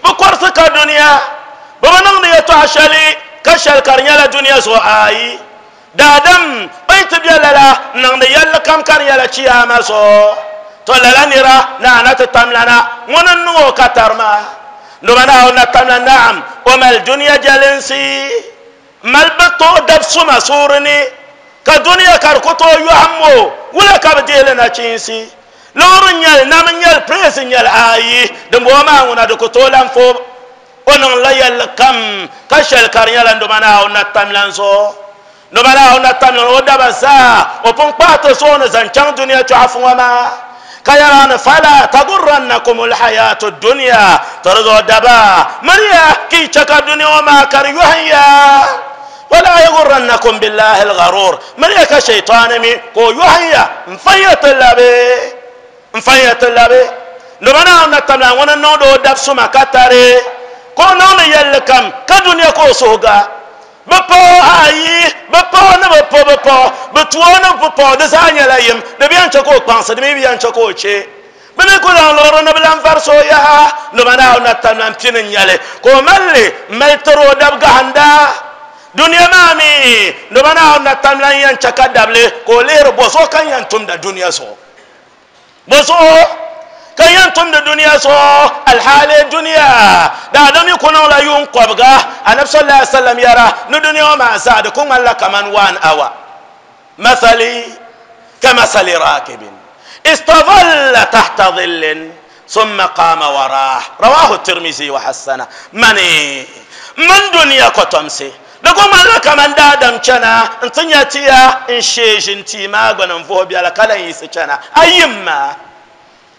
bi kɔrisi ka duniya bi bi niŋdi yɛltɔɣa shɛli ka shɛli ka di nyɛla duniya zuɣu ayi daadam o yi ti bɛ lala n niŋdi yɛlli kam ka di nyɛla chiyaama zuɣu to lala nira naana ti tamlana ŋuni n niŋ o ka tari maa ndoma Naawuni na tamla naam o mali duniya jɛlinsi mali bi tooi dab suma suuri ni ka duniya ka di ku tooi yɔhim o wula ka bi deeli nachiinsi loori nyɛli nam nyɛli piresi nyɛli ayi din bɔŋɔ maa ŋuna di ku tooi lan fo o niŋla yɛlli kam ka shɛli ka di nyɛla ndoma Naawuni na tamlan zuɣu ndoma Naawuni na tamlan o daba zaa o pun kpahi ti zuɣu ni zaŋ chaŋ duniya chɔɣufu ŋɔ maa ka yɛra ni fala tagurrannakum alhayatu dunya to di zuɣu daba miriya ki chɛ ka duniya ŋɔ maa ka di yɔhim ya ولا يغرنكم بالله الغرور مريا كشيطان مي كو يوهيا مفيت اللبي مفيت اللبي لمنا نتملا وانا نودو داب سما كتاري كو نون يلكم كدنيا كو سوغا Bi paɣa ayi bi paɣa ni bi po bi paɣa bi tuo ni bi paɣa di zaa nyɛla yim di bi yɛn chɛ ka o kpaŋsi di mi bi yɛn chɛ ka o chɛ bi mi ku zaŋ liɣiri ni bi lan varisi o yaha nima Naawuni na tam lan pini n nyɛli ka o mali li mali tiri o dab gahinda duniya maa mi nima Naawuni na tam lan yɛn chɛ ka dabili ka o lihiri bo zuɣu ka yɛn tumda duniya zuɣu bo zuɣu ka yɛn tumdi duniya zuɣu alhaali duniya daadam yi ku niŋla yuun kɔbiga anabi sallallahu alaihi wasallam yɛra ni duniya ŋɔ maa zaa di ku ŋmanila kaman one hour mathali ka mathali rakibin istadalla tahta dhillin summa qama wa rah rawahu tirmizi wa hassana mani min duniya kotomsi di ku ŋmanila kaman daadam chana n ti nya tiya n shee ʒini tia maa gbuni n vuhi biɛla ka lan yiɣisi chana ayimma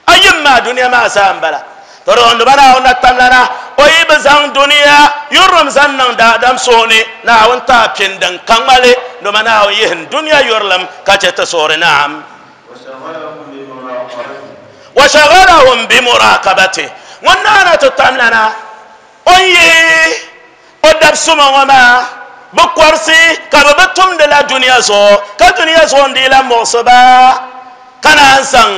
ayimma duniya maa zaa n bala to di ba Naawuni na tamlana o yi bi zaŋ duniya yurilim zaŋ niŋ daadam suhu ni Naawuni taa pini din ka ŋmali doma Naawuni yihin duniya yurilim ka chɛ ti suhuri naam wa shaghalahum bi muraqabati ŋun naana ti tamlana o yihi o dab suma ŋɔ maa bi kɔrisi ka bi bi tumdila duniya zuɣu ka duniya zuɣu n dii la muɣisi ba ka naan zaŋ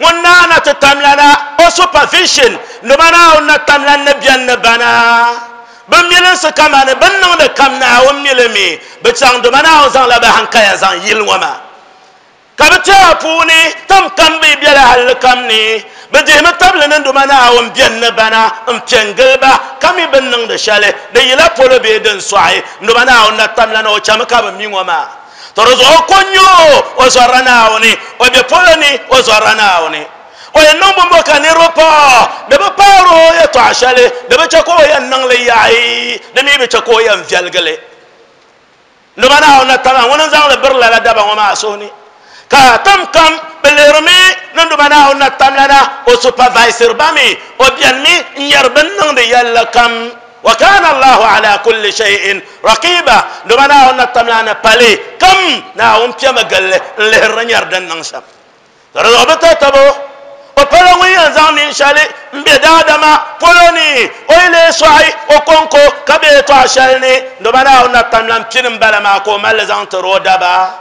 ŋun naana ti tamlana o supervision nima Naawuni na tamlan ni biɛni ni bana bi milinsi kamani bin niŋdi kam Naawuni milimi bi chaŋ doma Naawuni zaŋla bi hankaya zaŋ yili ŋɔ maa ka bi tɛha puuni tam kam bi biɛla halli kam ni bi dihimi tabili ni doma Naawuni biɛni ni bana n piɛ n gili ba ka mi bin niŋdi shɛli di yila polo bee din sɔɣi doma Naawuni na tamlana o chɛmi ka bi mi ŋɔ maa to di zuɣu ko nyo o zɔrila Naawuni o bɛ polo ni o zɔrila Naawuni o yɛn niŋ bɔnbɔ ka niriba paɣa di bi paari o yɛltɔɣa shɛli di bi chɛ ka o yɛn niŋli yaɣi di mi bi chɛ ka o yɛn viɛlgili doma Naawuni na tama ŋuni n zaŋli biri lala daba ŋɔ maa suhu ni ka tam kam bi lihirimi ni doma Naawuni na tamlana o supervisor ba mi o biɛni mi n nyɛri bin niŋdi yɛlli kam wa kana Allahu ala kulli shay'in raqiba doma Naawuni na tamlana pali kam Naawuni piɛmi gilli n lihiri nyɛri din niŋ shɛm di zuɣu bi tatabo o pala ŋun yɛn zaŋ ninshɛli n bɛ daadama polo ni o yi lee sɔɣi o konko ka bɛ yɛltɔɣa shɛli ni doma Naawuni na tamlan pini n bala maa ka o mali zaŋ tiri o daba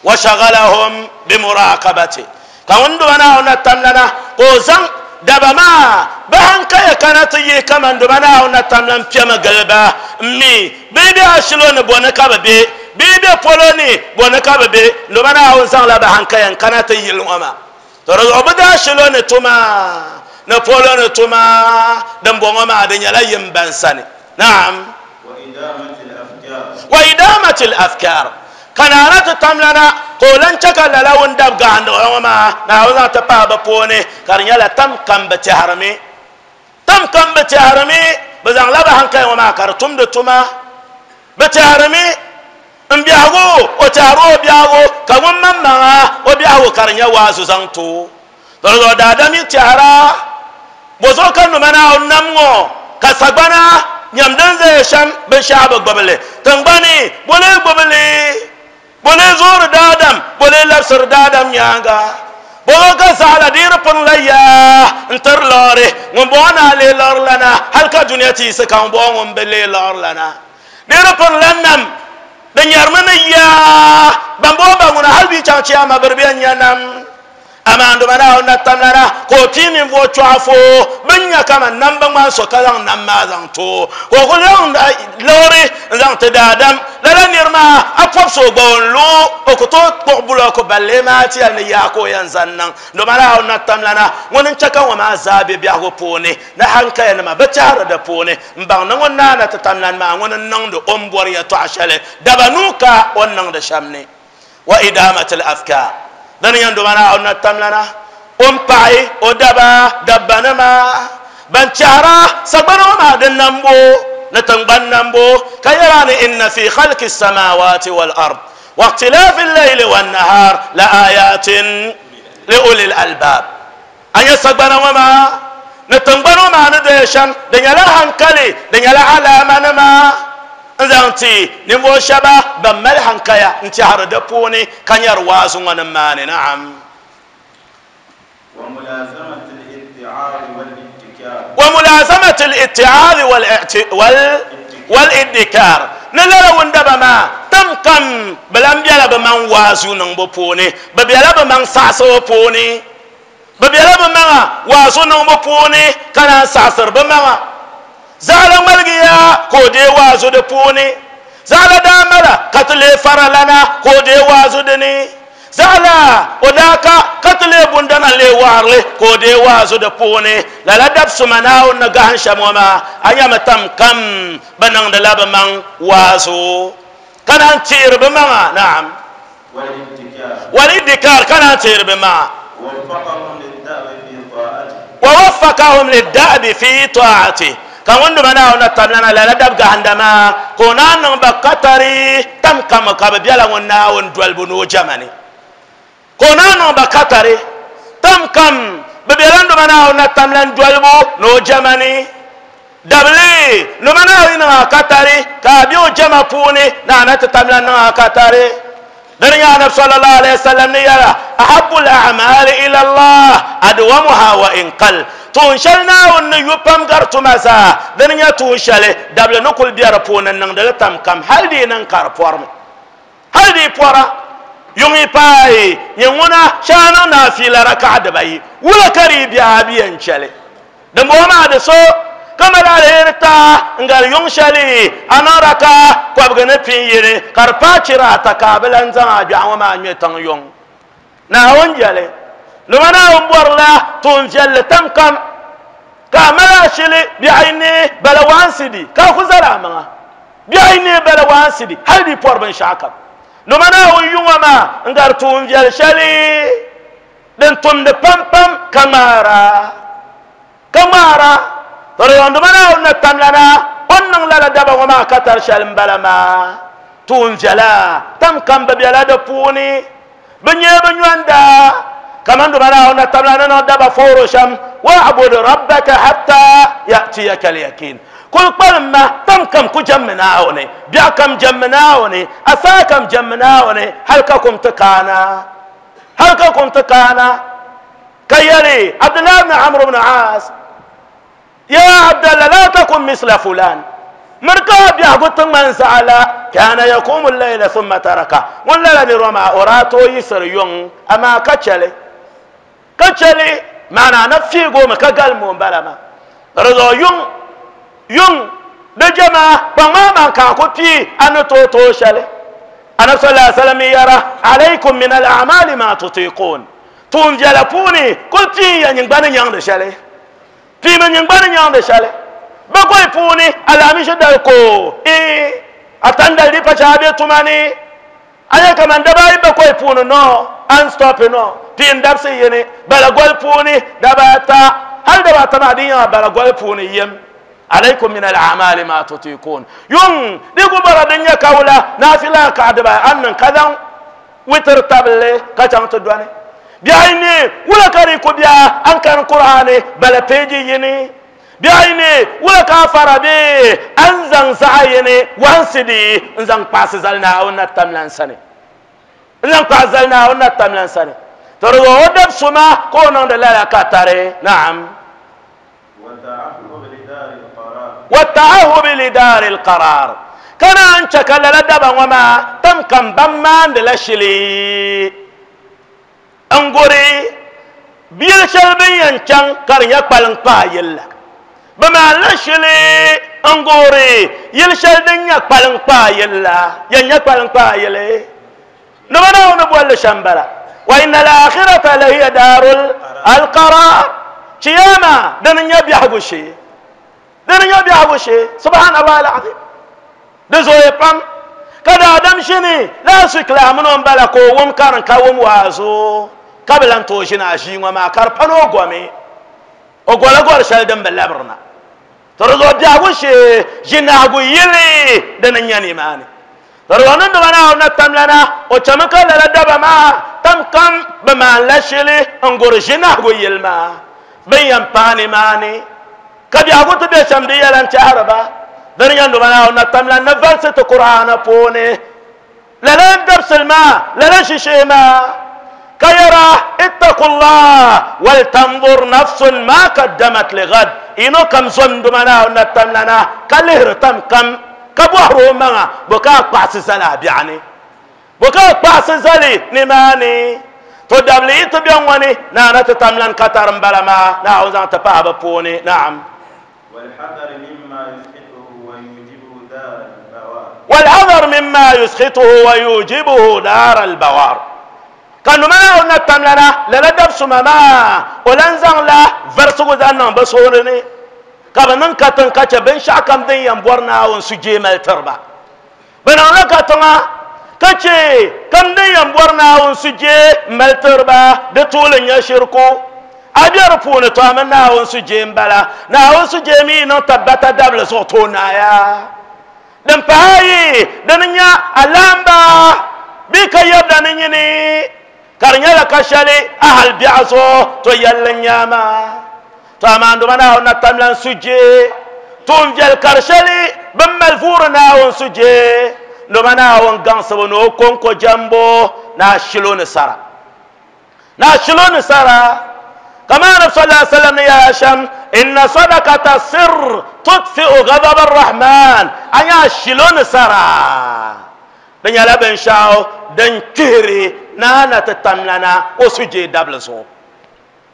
wa shaghalahum bi muraqabati ka ŋun doma Naawuni na tamlana ka o zaŋ daba maa bi hankaya kana ti yihi kaman doma Naawuni na tamlan piɛmi gili ba n mi bee bɛ ashilo ni bɔni ka bi be bee bɛ polo ni bɔni ka bi be doma Naawuni zaŋla bi hankaya n kana ti yili ŋɔ maa to di zuɣu bi daa ashilo ni tuma ni polo ni tuma din bɔŋɔ maa di nyɛla yim ban sani naam wa idamati al-afkar ka naana ti tamlana ka o lan chɛ ka lala ŋun dab gahindi ŋɔ maa Naawuni zaŋ ti pahi bi puuni ka di nyɛla tam kam bi tɛhirimi tam kam bi tɛhirimi bi zaŋla bi hankali ŋɔ maa ka di tumdi tuma bi tɛhirimi n biɛhigu o tɛhiri o biɛhigu ka ŋun maŋmaŋa o biɛhigu ka di nyɛ waazu zaŋ to di zuɣu daadam yi tɛhira bozuɣu ka nima Naawuni nam ŋɔ ka sagbana nyam din zaya shɛm binshaɣu bi gbubili tingbani boli gbubili boli zoori daadam boli labisiri daadam nyaanga bolo ka zaɣala diiri pini la yaa n tiri liɣiri ŋun bɔŋɔ naa lee liɣiri lana hali ka duniya ti yiɣisi ka ŋun bɔŋɔ ŋun bi lee liɣiri lana diiri pini la nam di nyɛrimi ni yaa ban bɔŋɔ ba ŋuna hali bi chaŋ chiyama biri bɛn nyɛ nam amaa doma Naawuni na tamlana ka o pii ninvuɣu chɔɣu fo bin nya kaman nam bi ŋmani so ka zaŋ nam maa zaŋ to ka o ku zaŋ liɣiri n zaŋ ti daadam lala niri maa a pɔbisi o gba o n lu o ku tooi kpuɣi bulɔku balli maa ti yɛli ni yaa ka o yɛn zaŋ niŋ doma Naawuni na tamlana ŋuni n chɛ ka ŋɔ maa zaa bɛ biɛhigu puuni ni hankaya nima bi tɛhiri di puuni n baŋ ni ŋun naana ti tamlani maa ŋuni n niŋdi o ni bɔri yɛltɔɣa shɛli daba nuu ka o ni niŋdi shɛm ni wa idamati al-afkar dini yɛn doma Naawuni na tamlana o n paɣi o daba dabbanima ban chɛhira sagbana ŋɔ maa di nambo ni tingbani nambo ka yɛra ni inna fi khalqi samawati wal ard wa ikhtilafi al-layli wan nahar la ayatin li ulil albab a nyɛ sagbana ŋɔ maa ni tingbani ŋɔ maa ni doya shɛm di nyɛla hankali di nyɛla alaamanima n zaŋ ti ninvuɣu shɛba ban mali hankaya n tɛhiri di puuni ka nyɛri waazu ŋɔ ni maani naam wa mulazamati al-itti'aadi wal-iddikar Ni lala wundaba maa tam kam bi lan biɛla bi maŋ waazu niŋbu puuni bi biɛla bi maŋ saɣasibu puuni bi biɛla bi maŋa waazu niŋbu puuni ka naan saɣasiri bi maŋa zaɣala ŋmaligiya ka o dee waazu di puuni zaɣala daa mala ka ti lee faralana ka o dee waazu dini zaɣala o daa ka ka ti lee bundana lee waɣarili ka o dee waazu di puuni lala dabsuma Naawuni ni gahim shɛm ŋɔ maa a nyɛmi tam kam bi niŋdila bi maŋ waazu ka naan teeri bi maŋa naam walidikar ka naan teeri bi maŋa wa waffaqahum liddabi fi taati ka ŋun duma Naawuni na tamlana lala dab gahinda maa ka o naan niŋ ba katari tam kam ka bi biɛla ŋun Naawuni dolibu ni o jɛma ni ka o naan niŋ ba katari tam kam bi biɛla n duma Naawuni na tamlan dolibu ni o jɛma ni dabli numa Naawuni niŋ a katari ka a bɛ o jɛma puuni ni a na ti tamlan niŋ a katari dini nyɛ anabi sallallahu alayhi wa sallam ni yɛra ahabu al-a'mali ila Allah adwamuha wa in qal tuun shɛli Naawuni ni yu pam gari tuma zaa dini nyɛ tuun shɛli dabli ni kuli bɛ di puuni n niŋdili tam kam hali di niŋ ka di pɔrimi hali di pɔra yuŋi paai nyɛ ŋuna shɛŋa niŋ naafiila rakaɣa dibayi wula ka di bɛ a bi yɛn chɛli dimbɔŋɔ maa di so kama la alheri ta n gari yuŋ shɛli a niŋ raka kɔbigi ni pin yini ka di paai chira ata ka a bi lan zaŋ a gbiɛɣu ŋɔ maa ŋmɛ tiŋ yuŋ Naawuni jɛli luma Naawuni bɔrila tuun viɛlli tam kam ka a mali ashili biɛɣu ni bala waansi di ka a ku zali a maŋa biɛɣu ni bala waansi di hali di pɔri binshaɣu kam luma Naawuni yuŋɔ maa n gari tuun viɛli shɛli din tumdi pam pam ka ŋmaara ka ŋmaara tɔriyɔnduma Naawuni na tamlana o ni niŋ lala daba ŋɔ maa ka tari shɛli n bala maa tuun viɛla tam kam bi biɛla di puuni bi nyɛ bi nyɔnda kaman duma Naawuni na tamlana niŋ daba fooro shɛm wa'bud rabbaka hatta ya'tiyaka al-yaqin kul kpalim ma tam kam ku jɛmmi Naawuni biɛɣu kam jɛmmi Naawuni asaa kam jɛmmi Naawuni hali ka kum ti kaana hali ka kum ti kaana ka yɛli Abdullahi ibn Amr ibn Aas يا عبد الله لا تكن مثل فلان مركا بيهغو تمان زعلا كان يقوم الليل ثم تركه ولا لا نروما اوراتو يسر يون اما كچلي كچلي معنى نفي غوم كغال مون بلاما رضو يون يون دجما بما ما كاكو بي ان تو تو شلي انا صلى الله عليه وسلم يرى عليكم من الاعمال ما تطيقون تون جلفوني قلت يا نيغبان نيان شلي piimi nyingbani nyaŋdi shɛli bi goyi puuni alamishi dali ko ee a tandali di pa chɛ a bɛ tuma ni a nyɛ kaman daba ayi bi goyi puuni no an stop no piim dabsi yini bala goli puuni daba ata hali daba ata maa di nyɛla bala goli puuni yim alaykum min al-a'mali ma tutiqun yuŋ di ku bɔra din nyɛ kawula naafila ka diba an niŋ ka zaŋ witir tabili ka chaŋ ti dɔni biɛɣu ni wula ka di ku bia an kani Qur'ani bala peeji yini biɛɣu ni wula ka a fara bee an zaŋ zaɣa yini wansi di n zaŋ kpaɣasi zali Naawuni na tamlan sani n zaŋ kpaɣasi zali Naawuni na tamlan sani to di o dab suma ka o niŋdi lala ka tari naam wa ta'ahubi lidari al-qarar ka naan chɛ ka lala daba ŋɔ maa tam kam ban maandi la shili n guri biyili shɛli bin yɛn chaŋ ka di nyɛ kpaliŋ kpaa yili la bi maanila shili n guri yili shɛli din nyɛ kpaliŋ kpaa yili la yɛn nyɛ kpaliŋ kpaa yili nima Naawuni bolli shɛm bala wa inna al-akhirata la hiya darul al-qarar kiyama dini nyɛ biɛhigu shee dini nyɛ biɛhigu shee subhanallah al-azim di zooya pam ka daadam shini last week la mini o bala ka o wum karin ka wum waazu ka bi lan tooi ʒini a ʒii ŋɔ maa ka di pa ni o gomi o gola gɔri shɛli din bi labirina to di zuɣu biɛhigu shee ʒinahigu yili dini n nyɛ nimaani to di zuɣu niŋdima Naawuni na tamlana o chɛmi ka lala daba maa tam kam bi maanila shili n guri ʒinahigu yili maa bin yɛn paai nimaani ka biɛhigu ti bɛ shɛm di yɛla n tɛhiri ba dini nyɛ duma Naawuni na tamla ni valisi ti Qur'ana puuni lala n dabisili maa lala shishee maa ka yɛra ittaqullah wal tanzur nafsun ma qaddamat lighad ino kam zom duma Naawuni na tamlana ka lihiri tam kam Ka bɔhiri o maŋa bo ka a kpaɣisi zali a biɛɣu ni bo ka a kpaɣisi zali nimaani to dabili yi ti bɛ ŋɔ ni naana ti tamlan katari n bala maa Naawuni zaŋ ti pahi bi puuni naam. والحذر مما يسخطه ويوجبه دار البوار والحذر مما يسخطه ويوجبه دار البوار ka numa na tamlana lala dab suma maa o lan zaŋla varisigu zaŋ niŋ bi suhuri ni ka bi niŋ katiŋ ka chɛ binshaɣu kam din yɛn bɔri Naawuni sujee mali tiriba bi niŋla katiŋa ka chɛ kam din yɛn bɔri Naawuni sujee mali tiriba di tuuli nyɛ shirku a bɛ di puuni to a mi Naawuni sujee n bala Naawuni sujee mi niŋ tabbata dabili zuɣu to naaya din pahi ayi dini nyɛ alamba bee ka yɛbda ni nyini ka di nyɛla ka shɛli a hali biɛɣu zuɣu to yɛlli nyaama to amaa nduma Naawuni na tamlan sujee tuun viɛli kari shɛli bin mali vuuri Naawuni sujee nduma Naawuni gaŋsibu ni o konko jɛmbo ni a shilo ni sara ni a shilo ni sara كما النبي صلى الله عليه وسلم يا هشام إن صدقة السر تطفئ غضب الرحمن أنا شلون سرا دنيا لبن شاو دن كهري نانا تتملنا وسجي دبلسو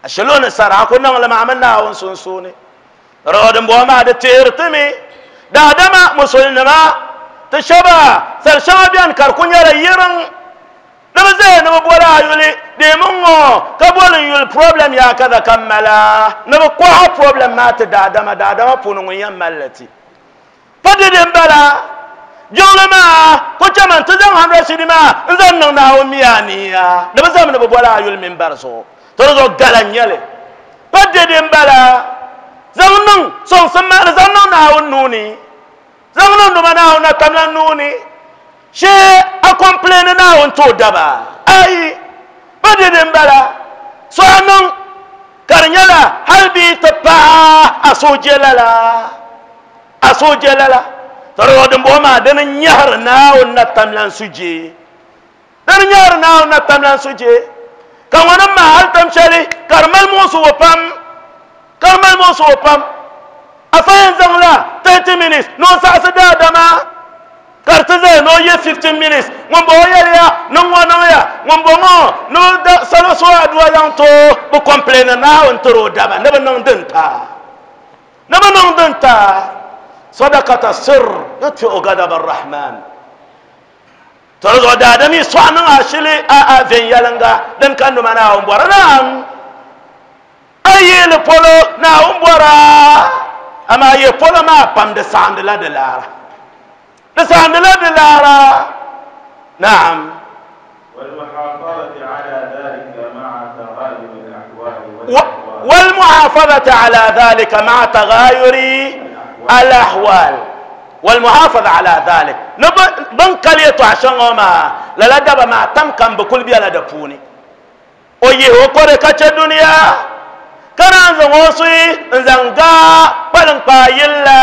شلون سرا كنا لما عملنا ونسونسوني رودن بوما دتيرتمي دادما مسلمما تشبا سرشما بيان كركون يرى يرن نبي زين نبي بولا يولي ديمونغو كبول يول problem يا كذا كملا نبي كوها problem ما تدادما دادما بونو يمالتي فدي بلا جولما كوتشمان تزان هندرة سينما نزان ناو ميانيا نبي زين نبي بولا يول من برسو ترى غالانيالي فدي بلا زانن سون سما زانن ناو نوني زانن نما ناو نتاملا نوني she a complain na on to daba ai badidin bala so anan karnyala halbi ta a soje lala a soje lala taro din bo ma dan nyar na on na tamlan suje dan nyar na on na tamlan suje kan wannan ma hal tamshali karmal musu wapam karmal musu wapam afayan zangla thirty minutes no sa sa dama karta zai no ye fifteen minutes ŋun bo yɛliya ni ŋɔ niŋya ŋun bo ŋɔ ni salo so aduwa zaŋ to bi complain Naawuni tiri o daba ni bi niŋ din ta ni bi niŋ din ta sadaqata sir yutfi'u ghadab ar-rahman tiri zuɣu daadami sɔɣu niŋ ashili a a viɛnyɛliŋga din ka numa Naawuni bɔra naam a yeeli polo Naawuni bɔra amaa ye polo maa pam di saɣindi la di laara لسان لا دلارا نعم. والمحافظة على ذلك مع تغاير الأحوال والمحافظة على ذلك مع تغاير الأحوال والمحافظة على ذلك بنكليتو عشان ما لا دبا ما تم كان بكل بيا لدفوني ويه وكره كاتش الدنيا كان زغوسي زنغا بلن بايلا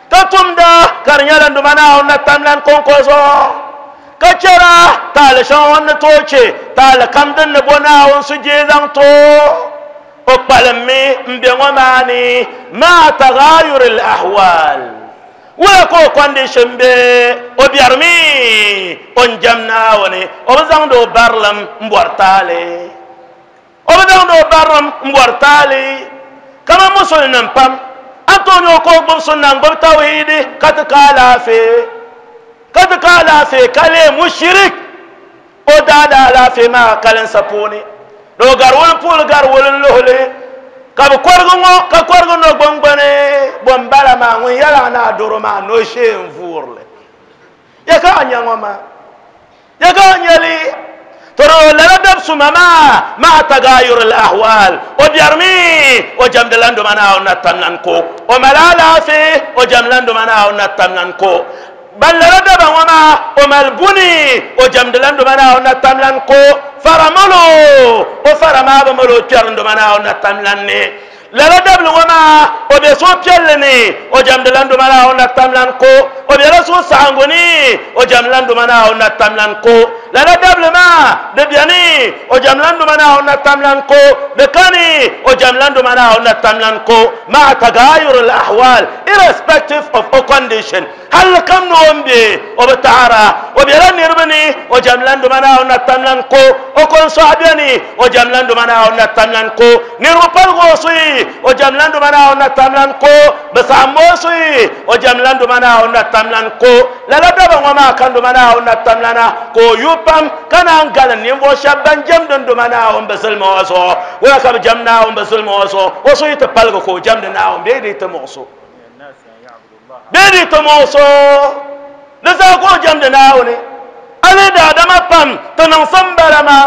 katumda karnyala ndumana na tamlan konkozo kachara tal shon toche tal kamdin ne bona on suje zang to o palmi mbe ngomani ma tagayur al ahwal wala ko condition be o biarmi on jamna woni o zang do barlam mbortale o zang do barlam mbortale kama musulman pam Antonio ko gbub sunna gbub tawhidi ka ti ka alaafee ka ti ka alaafee ka lee mushirik o daada alaafee maa kalinsa puuni do gariwul puuli gariwul n luhuli ka bi kɔrigi ŋɔ ka kɔrigi no gbungbuni bon bala maa ŋun yɛla na a doro maa no shee n vuurili ya ka a nya ŋɔ maa ya ka a nyɛli ترى لا دبس ما مع تغاير الأحوال وبيرمي وجمدلان دمنا ونتمنكو وملالا في وجمدلان دمنا ونتمنكو بل لا دب وما وملبني وجمدلان دمنا ونتمنكو فرملو وفرما بملو تشرن دمنا ونتمنني لا دب وما وبيسو بيلني وجمدلان دمنا ونتمنكو وبيرسو سانغوني وجمدلان دمنا ونتمنكو لا دب ما دبياني وجملان دمنا ونتملنكو دكاني وجملان دمنا ونتملنكو مع تغاير الأحوال Irrespective of o condition. Hal kam no ombe o batara o biala nirbani o jamlan do mana on tamlan ko o kon sahabiani o jamlan do mana on tamlan ko nirbu palgo sui o jamlan do mana on tamlan ko basamo sui o jamlan do mana on tamlan ko la la daba ngoma kan do mana on tamlana ko yupam kana ngala nimbo shaban jam don do mana on basulma waso wala kam jamna on basulma waso waso ita palgo ko jam na on be di ta moso bedi to moso da za ko jam da nawo ne ale da adama pam to nan san barama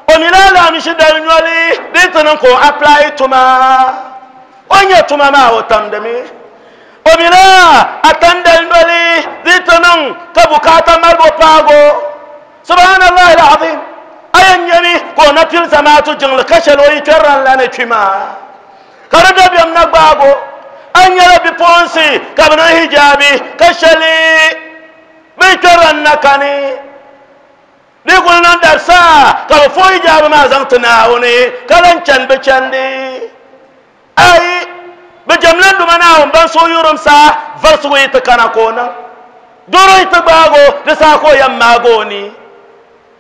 o mi la mi shi da nyoli de to nan ko apply tuma onya tuma ma o tam da mi o mi la atanda nyoli de to nan ka bukata malbo pago subhanallahi alazim ayan yami ko na fil samatu jingl kashalo yi terran la ne chima karada biyam na gbago an yɛrɛ bipuɣunsi ka bi niŋ hijabi ka shɛli bi kpɛri na kani di kuli niŋ dabisa ka bi fo hijabi maa zaŋ ti Naawuni ka lan chani bi chandi ayi bi jɛmla duma Naawuni ban so yurim saa varisigu yi ti kana ka o niŋ doro yi ti gbaago di saa ka o yɛn maagi o ni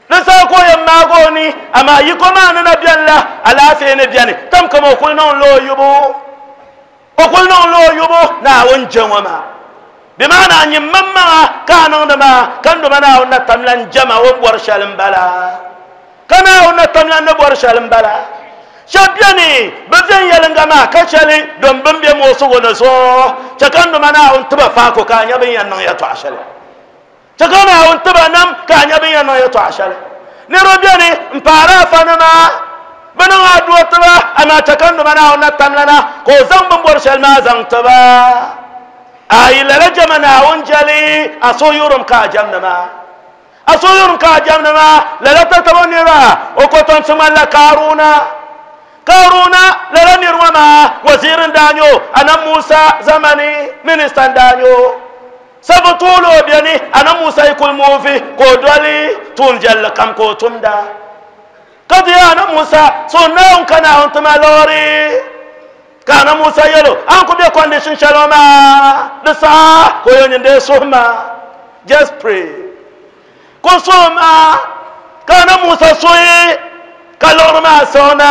di saa ka o yɛn maagi o ni amaa yiko maa ni na biɛni la alaafee ni biɛni tam kama o kuli niŋ la o yubu okul niŋ la o yubu Naawuni je ŋɔ maa bi maana nyim maŋmaŋa ka a niŋdi maa ka n duma Naawuni na tamlan jama o ni bɔri shɛli n bala ka Naawuni na tamlan ni bɔri shɛli n bala shɛba biɛni bi viɛnyɛlinga maa ka shɛli don bin bɛ moosigu ni zuɣu chɛ ka n duma Naawuni tiba faako ka a nya bin yɛn niŋ yɛltɔɣa shɛli chɛ ka Naawuni tiba nam ka a nya bin yɛn niŋ yɛltɔɣa shɛli niriba biɛni n paari afanima bini ŋa duo tiba amaa chɛ ka n duma Naawuni na tamlana ka o zaŋ bin bɔri shɛli maa zaŋ tiba ayi lala jama Naawuni jɛli a so yurim ka a jɛmdi maa a so yurim ka a jɛmdi maa lala tatabo nira o kotomsi ŋmanila Kaaruna Kaaruna lala niri ŋɔ maa waziiri n daa nyɛ o Annabi Musa zamani minista n daa nyɛ o sabu tuuli o biɛni Annabi Musa yi kuli muuvi ka o doli tuun viɛlli kam ka o tumda ka ti Annabi Musa so Naawuni ka Naawuni tima loori ka Annabi Musa yɛlo an ku bɛ condition shɛli ŋɔ maa di saha ka o yɛn nyin suhu maa just pray ko suhu maa ka Annabi Musa suhi ka liɣiri maa siɣina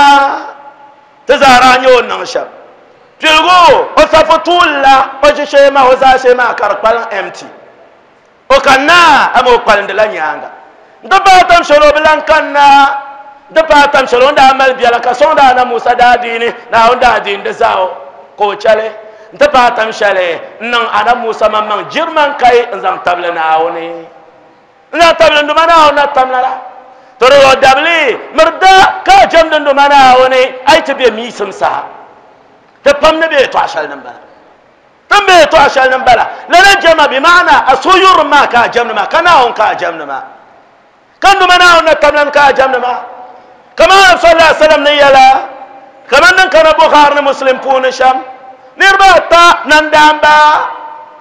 ti zaa nyɛ o niŋ shɛm piligu o safu tuuli la o ʒishee maa o zaashee maa ka di kpalim empty o kanna ama o kpalindila nyaanga n ti paai tam shɛli o bi lan kanna di paai tam shɛli o ni daa mali biɛla ka sɔŋ daa na Musa daa diini Naawuni daa diini di zaa o ka o chɛli n ti paai tam shɛli n niŋ Annabi Musa maŋmaŋ jiriman kai n zaŋ tabili Naawuni n zaŋ tabili n duma Naawuni na tamla la to di o dabili miri da ka a jɛmdi n duma Naawuni a yi ti bɛ miisim saha ti pam ni bɛ yɛltɔɣa shɛli ni n bala tin bɛ yɛltɔɣa shɛli ni n bala lala jɛma bi maana a so yurim maa ka a jɛmdi maa ka Naawuni ka a jɛmdi maa ka n duma Naawuni na tamla ka a jɛmdi maa kama Annabi sallallahu alaihi wasallam ni yɛla kaman din kana Bukhari ni Muslim puuni shɛm niriba ata nandaamba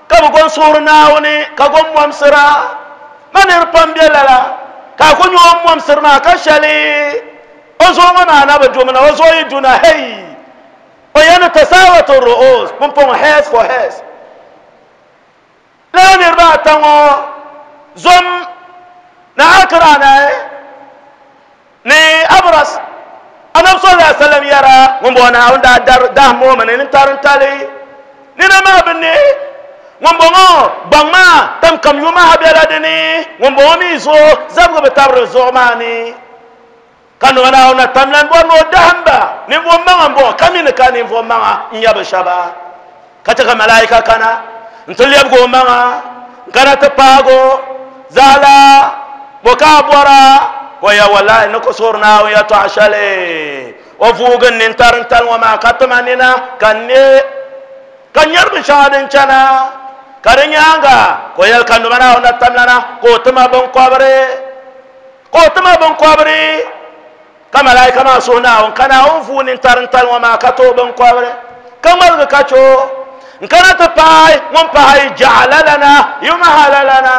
ka bi gon suhuri Naawuni ka gon momsira ma niri pam bɛ lala ka a ku nyɛ o momsiri maa ka shɛli o zuɣu ŋɔ maa na bi dumina o zuɣu yi duna hei o yɛn tasawatu ru'us pumpɔŋɔ heads for heads lala niriba ata ŋɔ zom na akira na ni abras Annabi sallallahu alaihi wasallam yara ŋun bɔŋɔ Naawuni daa dar dahim o mi ni tarin tali nina maa bi ne ŋun bɔŋɔ gbaŋ maa tam kam yuma ha bɛla dini ŋun bɔŋɔ mi zuɣu zabigi bi tabiri zuɣu maa ni ka nima Naawuni na tamlan bɔri ni o dahim ba ninvuɣu maŋa n bɔŋɔ ka mi ni ka ninvuɣu maŋa n nyɛ bi shɛba ka chɛ ka malaika kana n ti lɛbigi o maŋa n kana ti paago zaala bo ka a bɔra ko ya wallahi ni ku suhuri Naawuni yɛltɔɣa shɛli o vuugi n nintarin tali ŋɔ maa ka tima nina ka n ne ka nyɛri binshɛŋa din chana ka di nyaanga ka o yɛli ka numa Naawuni na tamlana ka o tima binkɔbiri ka o tima binkɔbiri ka malaika maa suhi Naawuni ka Naawuni vuu nintarin tali ŋɔ maa ka ti o binkɔbiri ka ŋmaligi ka chɛ o n kana ti paai ŋun pahi jaɣala lana yumahala lana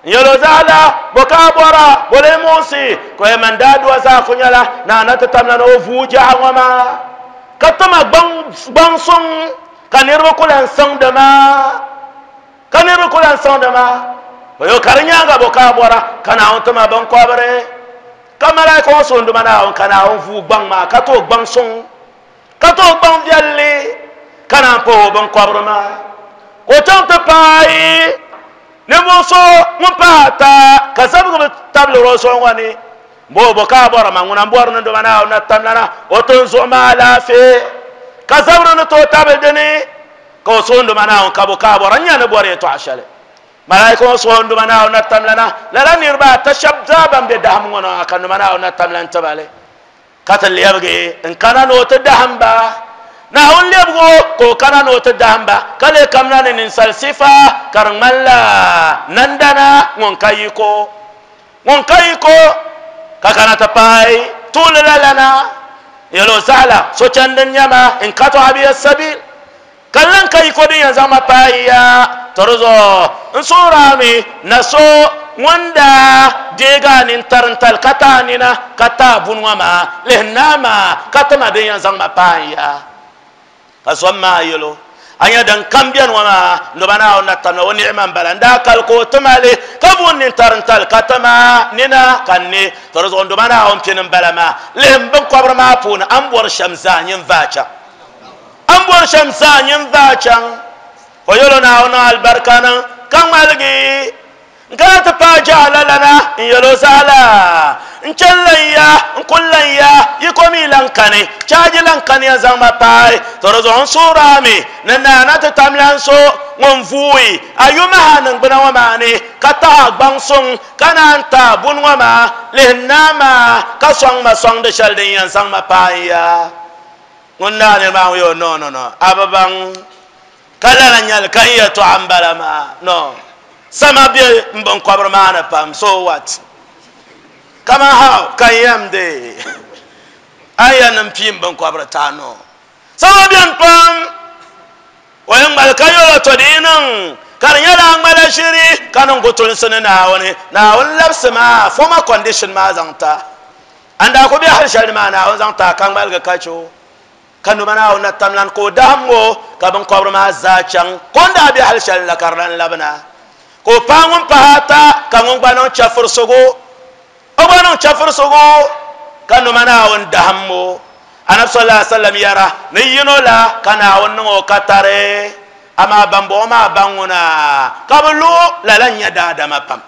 yɛlo zaala bo ka bɔra bole musi ko ye man daa duwa zaa ku nyɛla naana ti tamla na o vuu jaɣa ŋɔ maa ka tima gbaŋ suŋ Ka niriba ku lan sɔŋdi ma ka niriba ku lan sɔŋdi ma o yo ka di nyaanga bo ka a bɔra ka Naawuni ti ma binkɔbiri ka malaika ŋɔ soondima Naawuni ka Naawuni vuu gbaŋ maa ka tooi gbaŋ suŋ ka tooi gbaŋ viɛlli ka naan pahi o binkɔbiri maa ka o chaŋ ti paai ninvuɣu so ŋun pahi ata ka zabigi bi tabili o zuɣu ŋɔ ni bo bo ka a bɔra ma ŋuna n bɔri ni doma Naawuni na tamlana o tin zuɣu maa alaafee ka zabiri ni tooi tabili dini ka o soondima Naawuni ka bo ka a bɔra n nya ni bɔri yɛltɔɣa shɛli malaika ŋɔ soondima Naawuni na tamlana lala niriba ata shɛba zaa ban be dahim ŋɔ na ka nima Naawuni na tamlan tibali ka ti lɛbigi n kana ni o ti dahim ba Naawuni lɛbigi o ka o kana ni o ti dahim ba ka lee kamina ni ninsal sifa ka di ŋmanila nandana ŋun ka yiko ŋun ka yiko ka kana ti paai tuuli la lana yɛlo zaɣala sochandi nyɛma n ka tɔɣa biya sabil ka lan ka yiko din yɛn zaŋ ma paai ya to di zuɣu n suurami na so ŋun daa deegi a nintarintali ka ti a nina ka ti a buni ŋɔ maa lihi naa maa ka ti ma din yɛn zaŋ ma paai ya ka zom maa yɛlo a nya din kam biɛni ŋɔ maa noba Naawuni na tamla o niɣima n bala n daa kali ka o tima li ka vuun nintarintali ka tima nina ka n ne to di zuɣu noba Naawuni pini n bala maa lihi n binkɔbiri maa puuni a ni bɔri shɛm zaa nyin vaa chaŋ a ni bɔri shɛm zaa nyin vaa chaŋ o yɛlo Naawuni alibarika niŋ ka ŋmaligi n kana ti paai jahala lana n yɛlo zaɣala n chɛni lan ya n kuli lan ya yi ko mi lan kani chaaji lan kani ya zaŋ ma paai to di zuɣu n suurami ni naana ti tam lan so ŋun vuui a yumaha niŋgbuna ŋɔ maa ni ka taha gbaŋ suŋ ka naan ta buni ŋɔ maa lihi naa maa ka sɔŋ ma sɔŋdi shɛli din yɛn zaŋ ma paai ya ŋun naa niri maa ŋun yɛ no no no a bi baŋ ka lala nyɛli ka n yɛltɔɣa n bala maa no sama be n binkɔbiri maa ni pam so what kama how ka n yɛm de a yɛn ni pii n binkɔbiri taa no sama bɛni pam o yɛn ŋmali ka yɛlo to di yi niŋ ka di nyɛla a ŋmala ʒiri ka niŋ gutulinsi ni Naawuni Naawuni labisi maa former condition maa zaŋ ta an daa ku bɛ hali shɛli ni maa Naawuni zaŋ ta ka ŋmaligi ka che o ka noma Naawuni na tamlan ka o dahim o ka binkɔbiri maa zaa chaŋ ko n daa bɛ hali shɛli la ka di lan labina ka o paai ŋun pahi ata ka ŋun gba niŋ chɛfurisigu o gba niŋ chɛfurisigu ka noma Naawuni dahim o anabi sallallahu alaihi wasallam yɛra ni yino la ka Naawuni niŋ o ka tari amaa bambɔŋɔ maa baŋ ŋuna ka bi lu lala n nyɛ daadama pam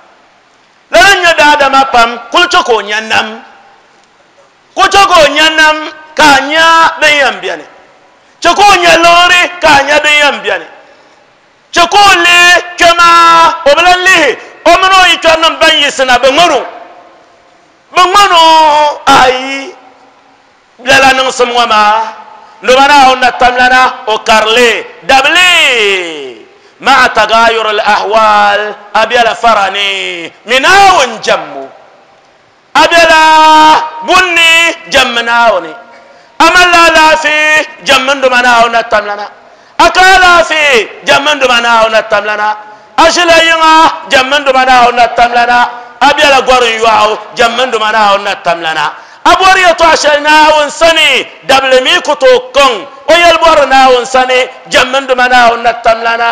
lala n nyɛ daadama pam kuli chɛ ka o nya nam ku chɛ ka o nya nam ka a nya din yɛn biɛni chɛ ka o nya liɣiri ka a nya din yɛn biɛni chɛ ka o lihi kpɛ maa o bi lan lihi o mini o yikpɛrinim ban yiɣisina bi ŋmani o bi ŋmani o ayi lala niŋsim ŋɔ maa noba Naawuni na tamlana o karili dabili ma'a tagayur al ahwal a biɛla farani mi Naawuni jɛmmu a biɛla bunni jɛmmi Naawuni a malila alaafee jɛmmi n doma Naawuni na tamlana a ka alaafee jɛmmi n doma Naawuni na tamlana a ʒila yiŋa jɛmmi n doma Naawuni na tamlana a biɛla gɔrim yɔɣu jɛmmi n doma Naawuni na tamlana a bɔri yɛltɔɣa shɛli Naawuni sani dabili mi ku tooi kɔŋ o yɛli bɔri Naawuni sani jɛmmi n doma Naawuni na tamlana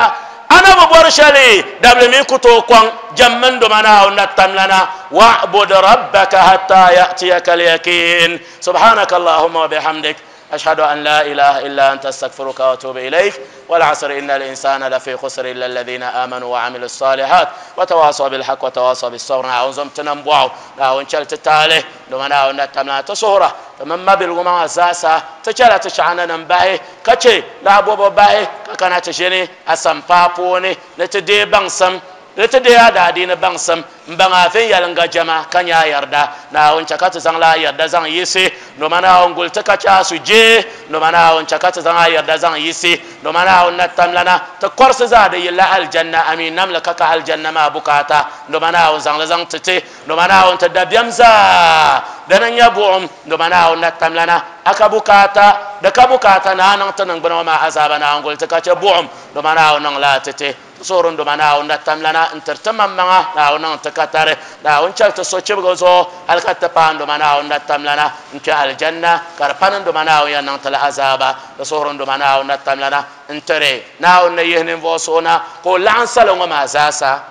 ana bi bɔri shɛli dabili mi ku tooi kɔŋ jɛmmi n doma Naawuni na tamlana wa'bud rabbaka hatta ya'tiyaka al-yaqin subhanaka allahumma wa bihamdik أشهد أن لا إله إلا أنت أستغفرك وأتوب إليك والعصر إن الإنسان لفي خسر إلا الذين آمنوا وعملوا الصالحات وتواصوا بالحق وتواصوا بالصبر ناون زمتنا بواو ناون شلت تالي لما ناون نتمنا تسهرة تمام ما بالغما أساسا تشلا تشعنا نباهي كشي لا بوبو باهي كنا تشيني أسام بابوني نتدي بانسم nti de a daadiini baŋsim n baŋ a viɛnyɛliŋga jɛma ka nya a yarda Naawuni chɛ ka ti zaŋla a yarda zaŋ yiɣisi noma Naawuni guli ti ka chɛ a sujee noma Naawuni chɛ ka ti zaŋ a yarda zaŋ yiɣisi noma Naawuni na tamlana ti kɔrisi zaa di yilla aljanna amin namli ka ka aljanna maa bukaata noma Naawuni zaŋli zaŋ ti ti noma Naawuni ti dabiɛm zaa dini n nyɛ buɣum noma Naawuni na tamlana a ka bukaata di ka bukaata naa niŋ ti niŋgbuna ŋɔ maa azaaba Naawuni guli ti ka chɛ buɣum noma Naawuni niŋla a ti ti Soorun duma Naawuni na tamlana n tiri ti maŋmaŋa Naawuni niŋ ti katari Naawuni chɛli ti sochibigi zuɣu hali ka ti paai n duma Naawuni na tamlana n kpɛ aljanna ka di pani n duma Naawuni yɛn niŋ ti la azaaba ti suhuri n duma Naawuni na tamlana n tiri Naawuni ni yihi ninvuɣu so na ka o laɣim salo ŋɔ maa zaasa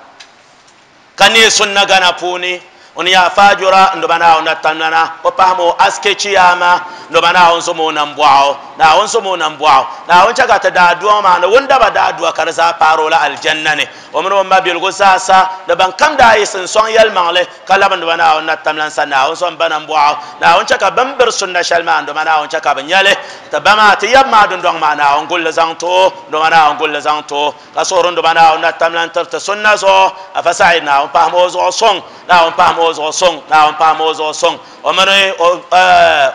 ka neei sunna gana puuni o ni yaa faajura n duma Naawuni na tamlana o pahami o aske chiyaama n duma Naawuni zom o nambɔɣu Naawuni zom o nambɔɣu Naawuni chɛ ka ti daadua ŋɔ maa ni wundaba daadua ka di zaa paari o la aljanna ni o mini o mabiligu zaasa ni ban kam daa yiɣisi n sɔŋ yɛlimaŋli ka labi n duma Naawuni na tamlan sa Naawuni zom ba nambɔɣu Naawuni chɛ ka bin biri sunna shɛli maa n duma Naawuni chɛ ka bi nyɛli ti ba maa ti yab maa dundɔŋ maa Naawuni gulli zaŋ ti o n duma Naawuni gulli zaŋ ti o ka suhuri n duma Naawuni na tamlan tiri ti sunna zuɣu afa Said Naawuni pahami o zuɣu suŋ Naawuni pahami o zuɣu suŋ Naawuni pahami o zuɣu suŋ o mini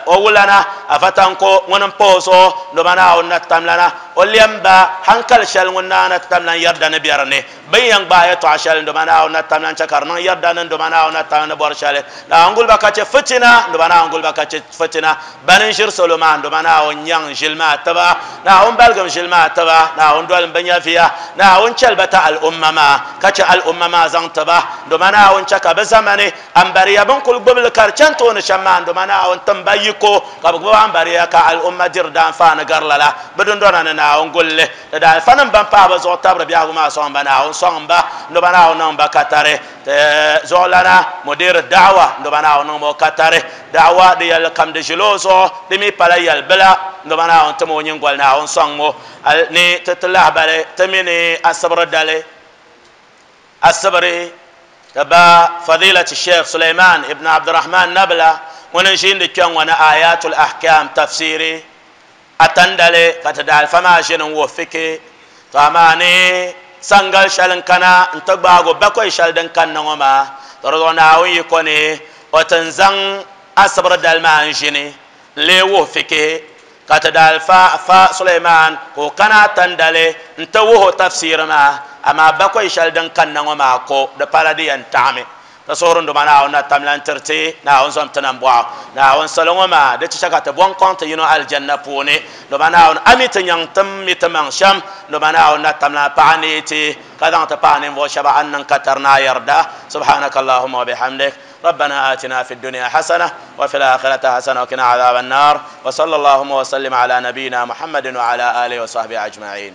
o wulana afa tanko ŋuni n pa o zuɣu n duma Naawuni na tamlana o lɛm ba hankali shɛli ŋun naa na tamlan yɛrida ni bɛ dinni bin yɛn gbaai yɛltɔɣa shɛli n duma Naawuni na tamlan chɛ ka di niŋ yɛrida ni n duma Naawuni na tamlan ni bɔri shɛli Naawuni guliba ka chɛ fitina n duma Naawuni guliba ka chɛ fitina bani n ʒiri salo maa n duma Naawuni nyaŋ ʒili maa tiba Naawuni baligim ʒili maa tiba Naawuni dolim bi nyɛviya Naawuni chɛli ba ti al'umma maa ka chɛ al'umma maa zaŋ tiba n duma Naawuni chɛ ka bi zamani ambariya bin kuli gbubili ka di chɛni tooni shɛm maa n duma Naawuni timba yiko ka bi gbubi ambariya ka al'umma diri daanfaani gari lala bi dundɔna ni Naawuni gulli di daalifa nim ban paai bi zuɣu tabiri biɛhigu maa sɔŋ ba Naawuni sɔŋ ba n duma Naawuni niŋ ba katari ti zuɣulana mudir da'wa n duma Naawuni niŋ o katari da'wa di yɛlli kam di ʒili o zuɣu di mi pala yɛli bila n duma Naawuni tim o nyingoli Naawuni sɔŋ o ni ti ti lahabali ti mi ni asibiri dali asibiri ti ba fadilati Sheikh Suleiman ibn Abdurrahman Nabla ŋuni n ʒiindi kpɛŋ ŋɔ ni ayatul ahkam tafsiri atandali ka ti daalifa maa ʒini n wuhi fiki to amaa ni sangali shɛli n kana n ti gbaago bakɔi shɛli din kanna ŋɔ maa to di zuɣu Naawuni yiko ni o ti n zaŋ asibiri dali maa n ʒini n lee wuhi fiki ka ti daalifa fa Suleiman ka o kana atandali n ti wuhi o tafsiri maa amaa bakɔi shɛli din kanna ŋɔ maa ko di pala di yɛn taɣami ta suhuri n duma Naawuni na tamlan tiriti Naawuni zom ti nambɔɣu Naawuni salo ŋɔ maa di ti chɛ ka ti bɔŋ kɔŋ ti yino aljanna puuni duma Naawuni a mi ti nyaŋ tim mi ti maŋ shɛm duma Naawuni na tamlan paɣa neei ti ka zaŋ ti paɣa ninvuɣu shɛba an niŋ katari ni a yarda subhanaka allahumma wa bihamdik ربنا آتنا في الدنيا حسنة وفي الآخرة حسنة وقنا عذاب النار وصلى اللهم وسلم على نبينا محمد وعلى آله وصحبه أجمعين.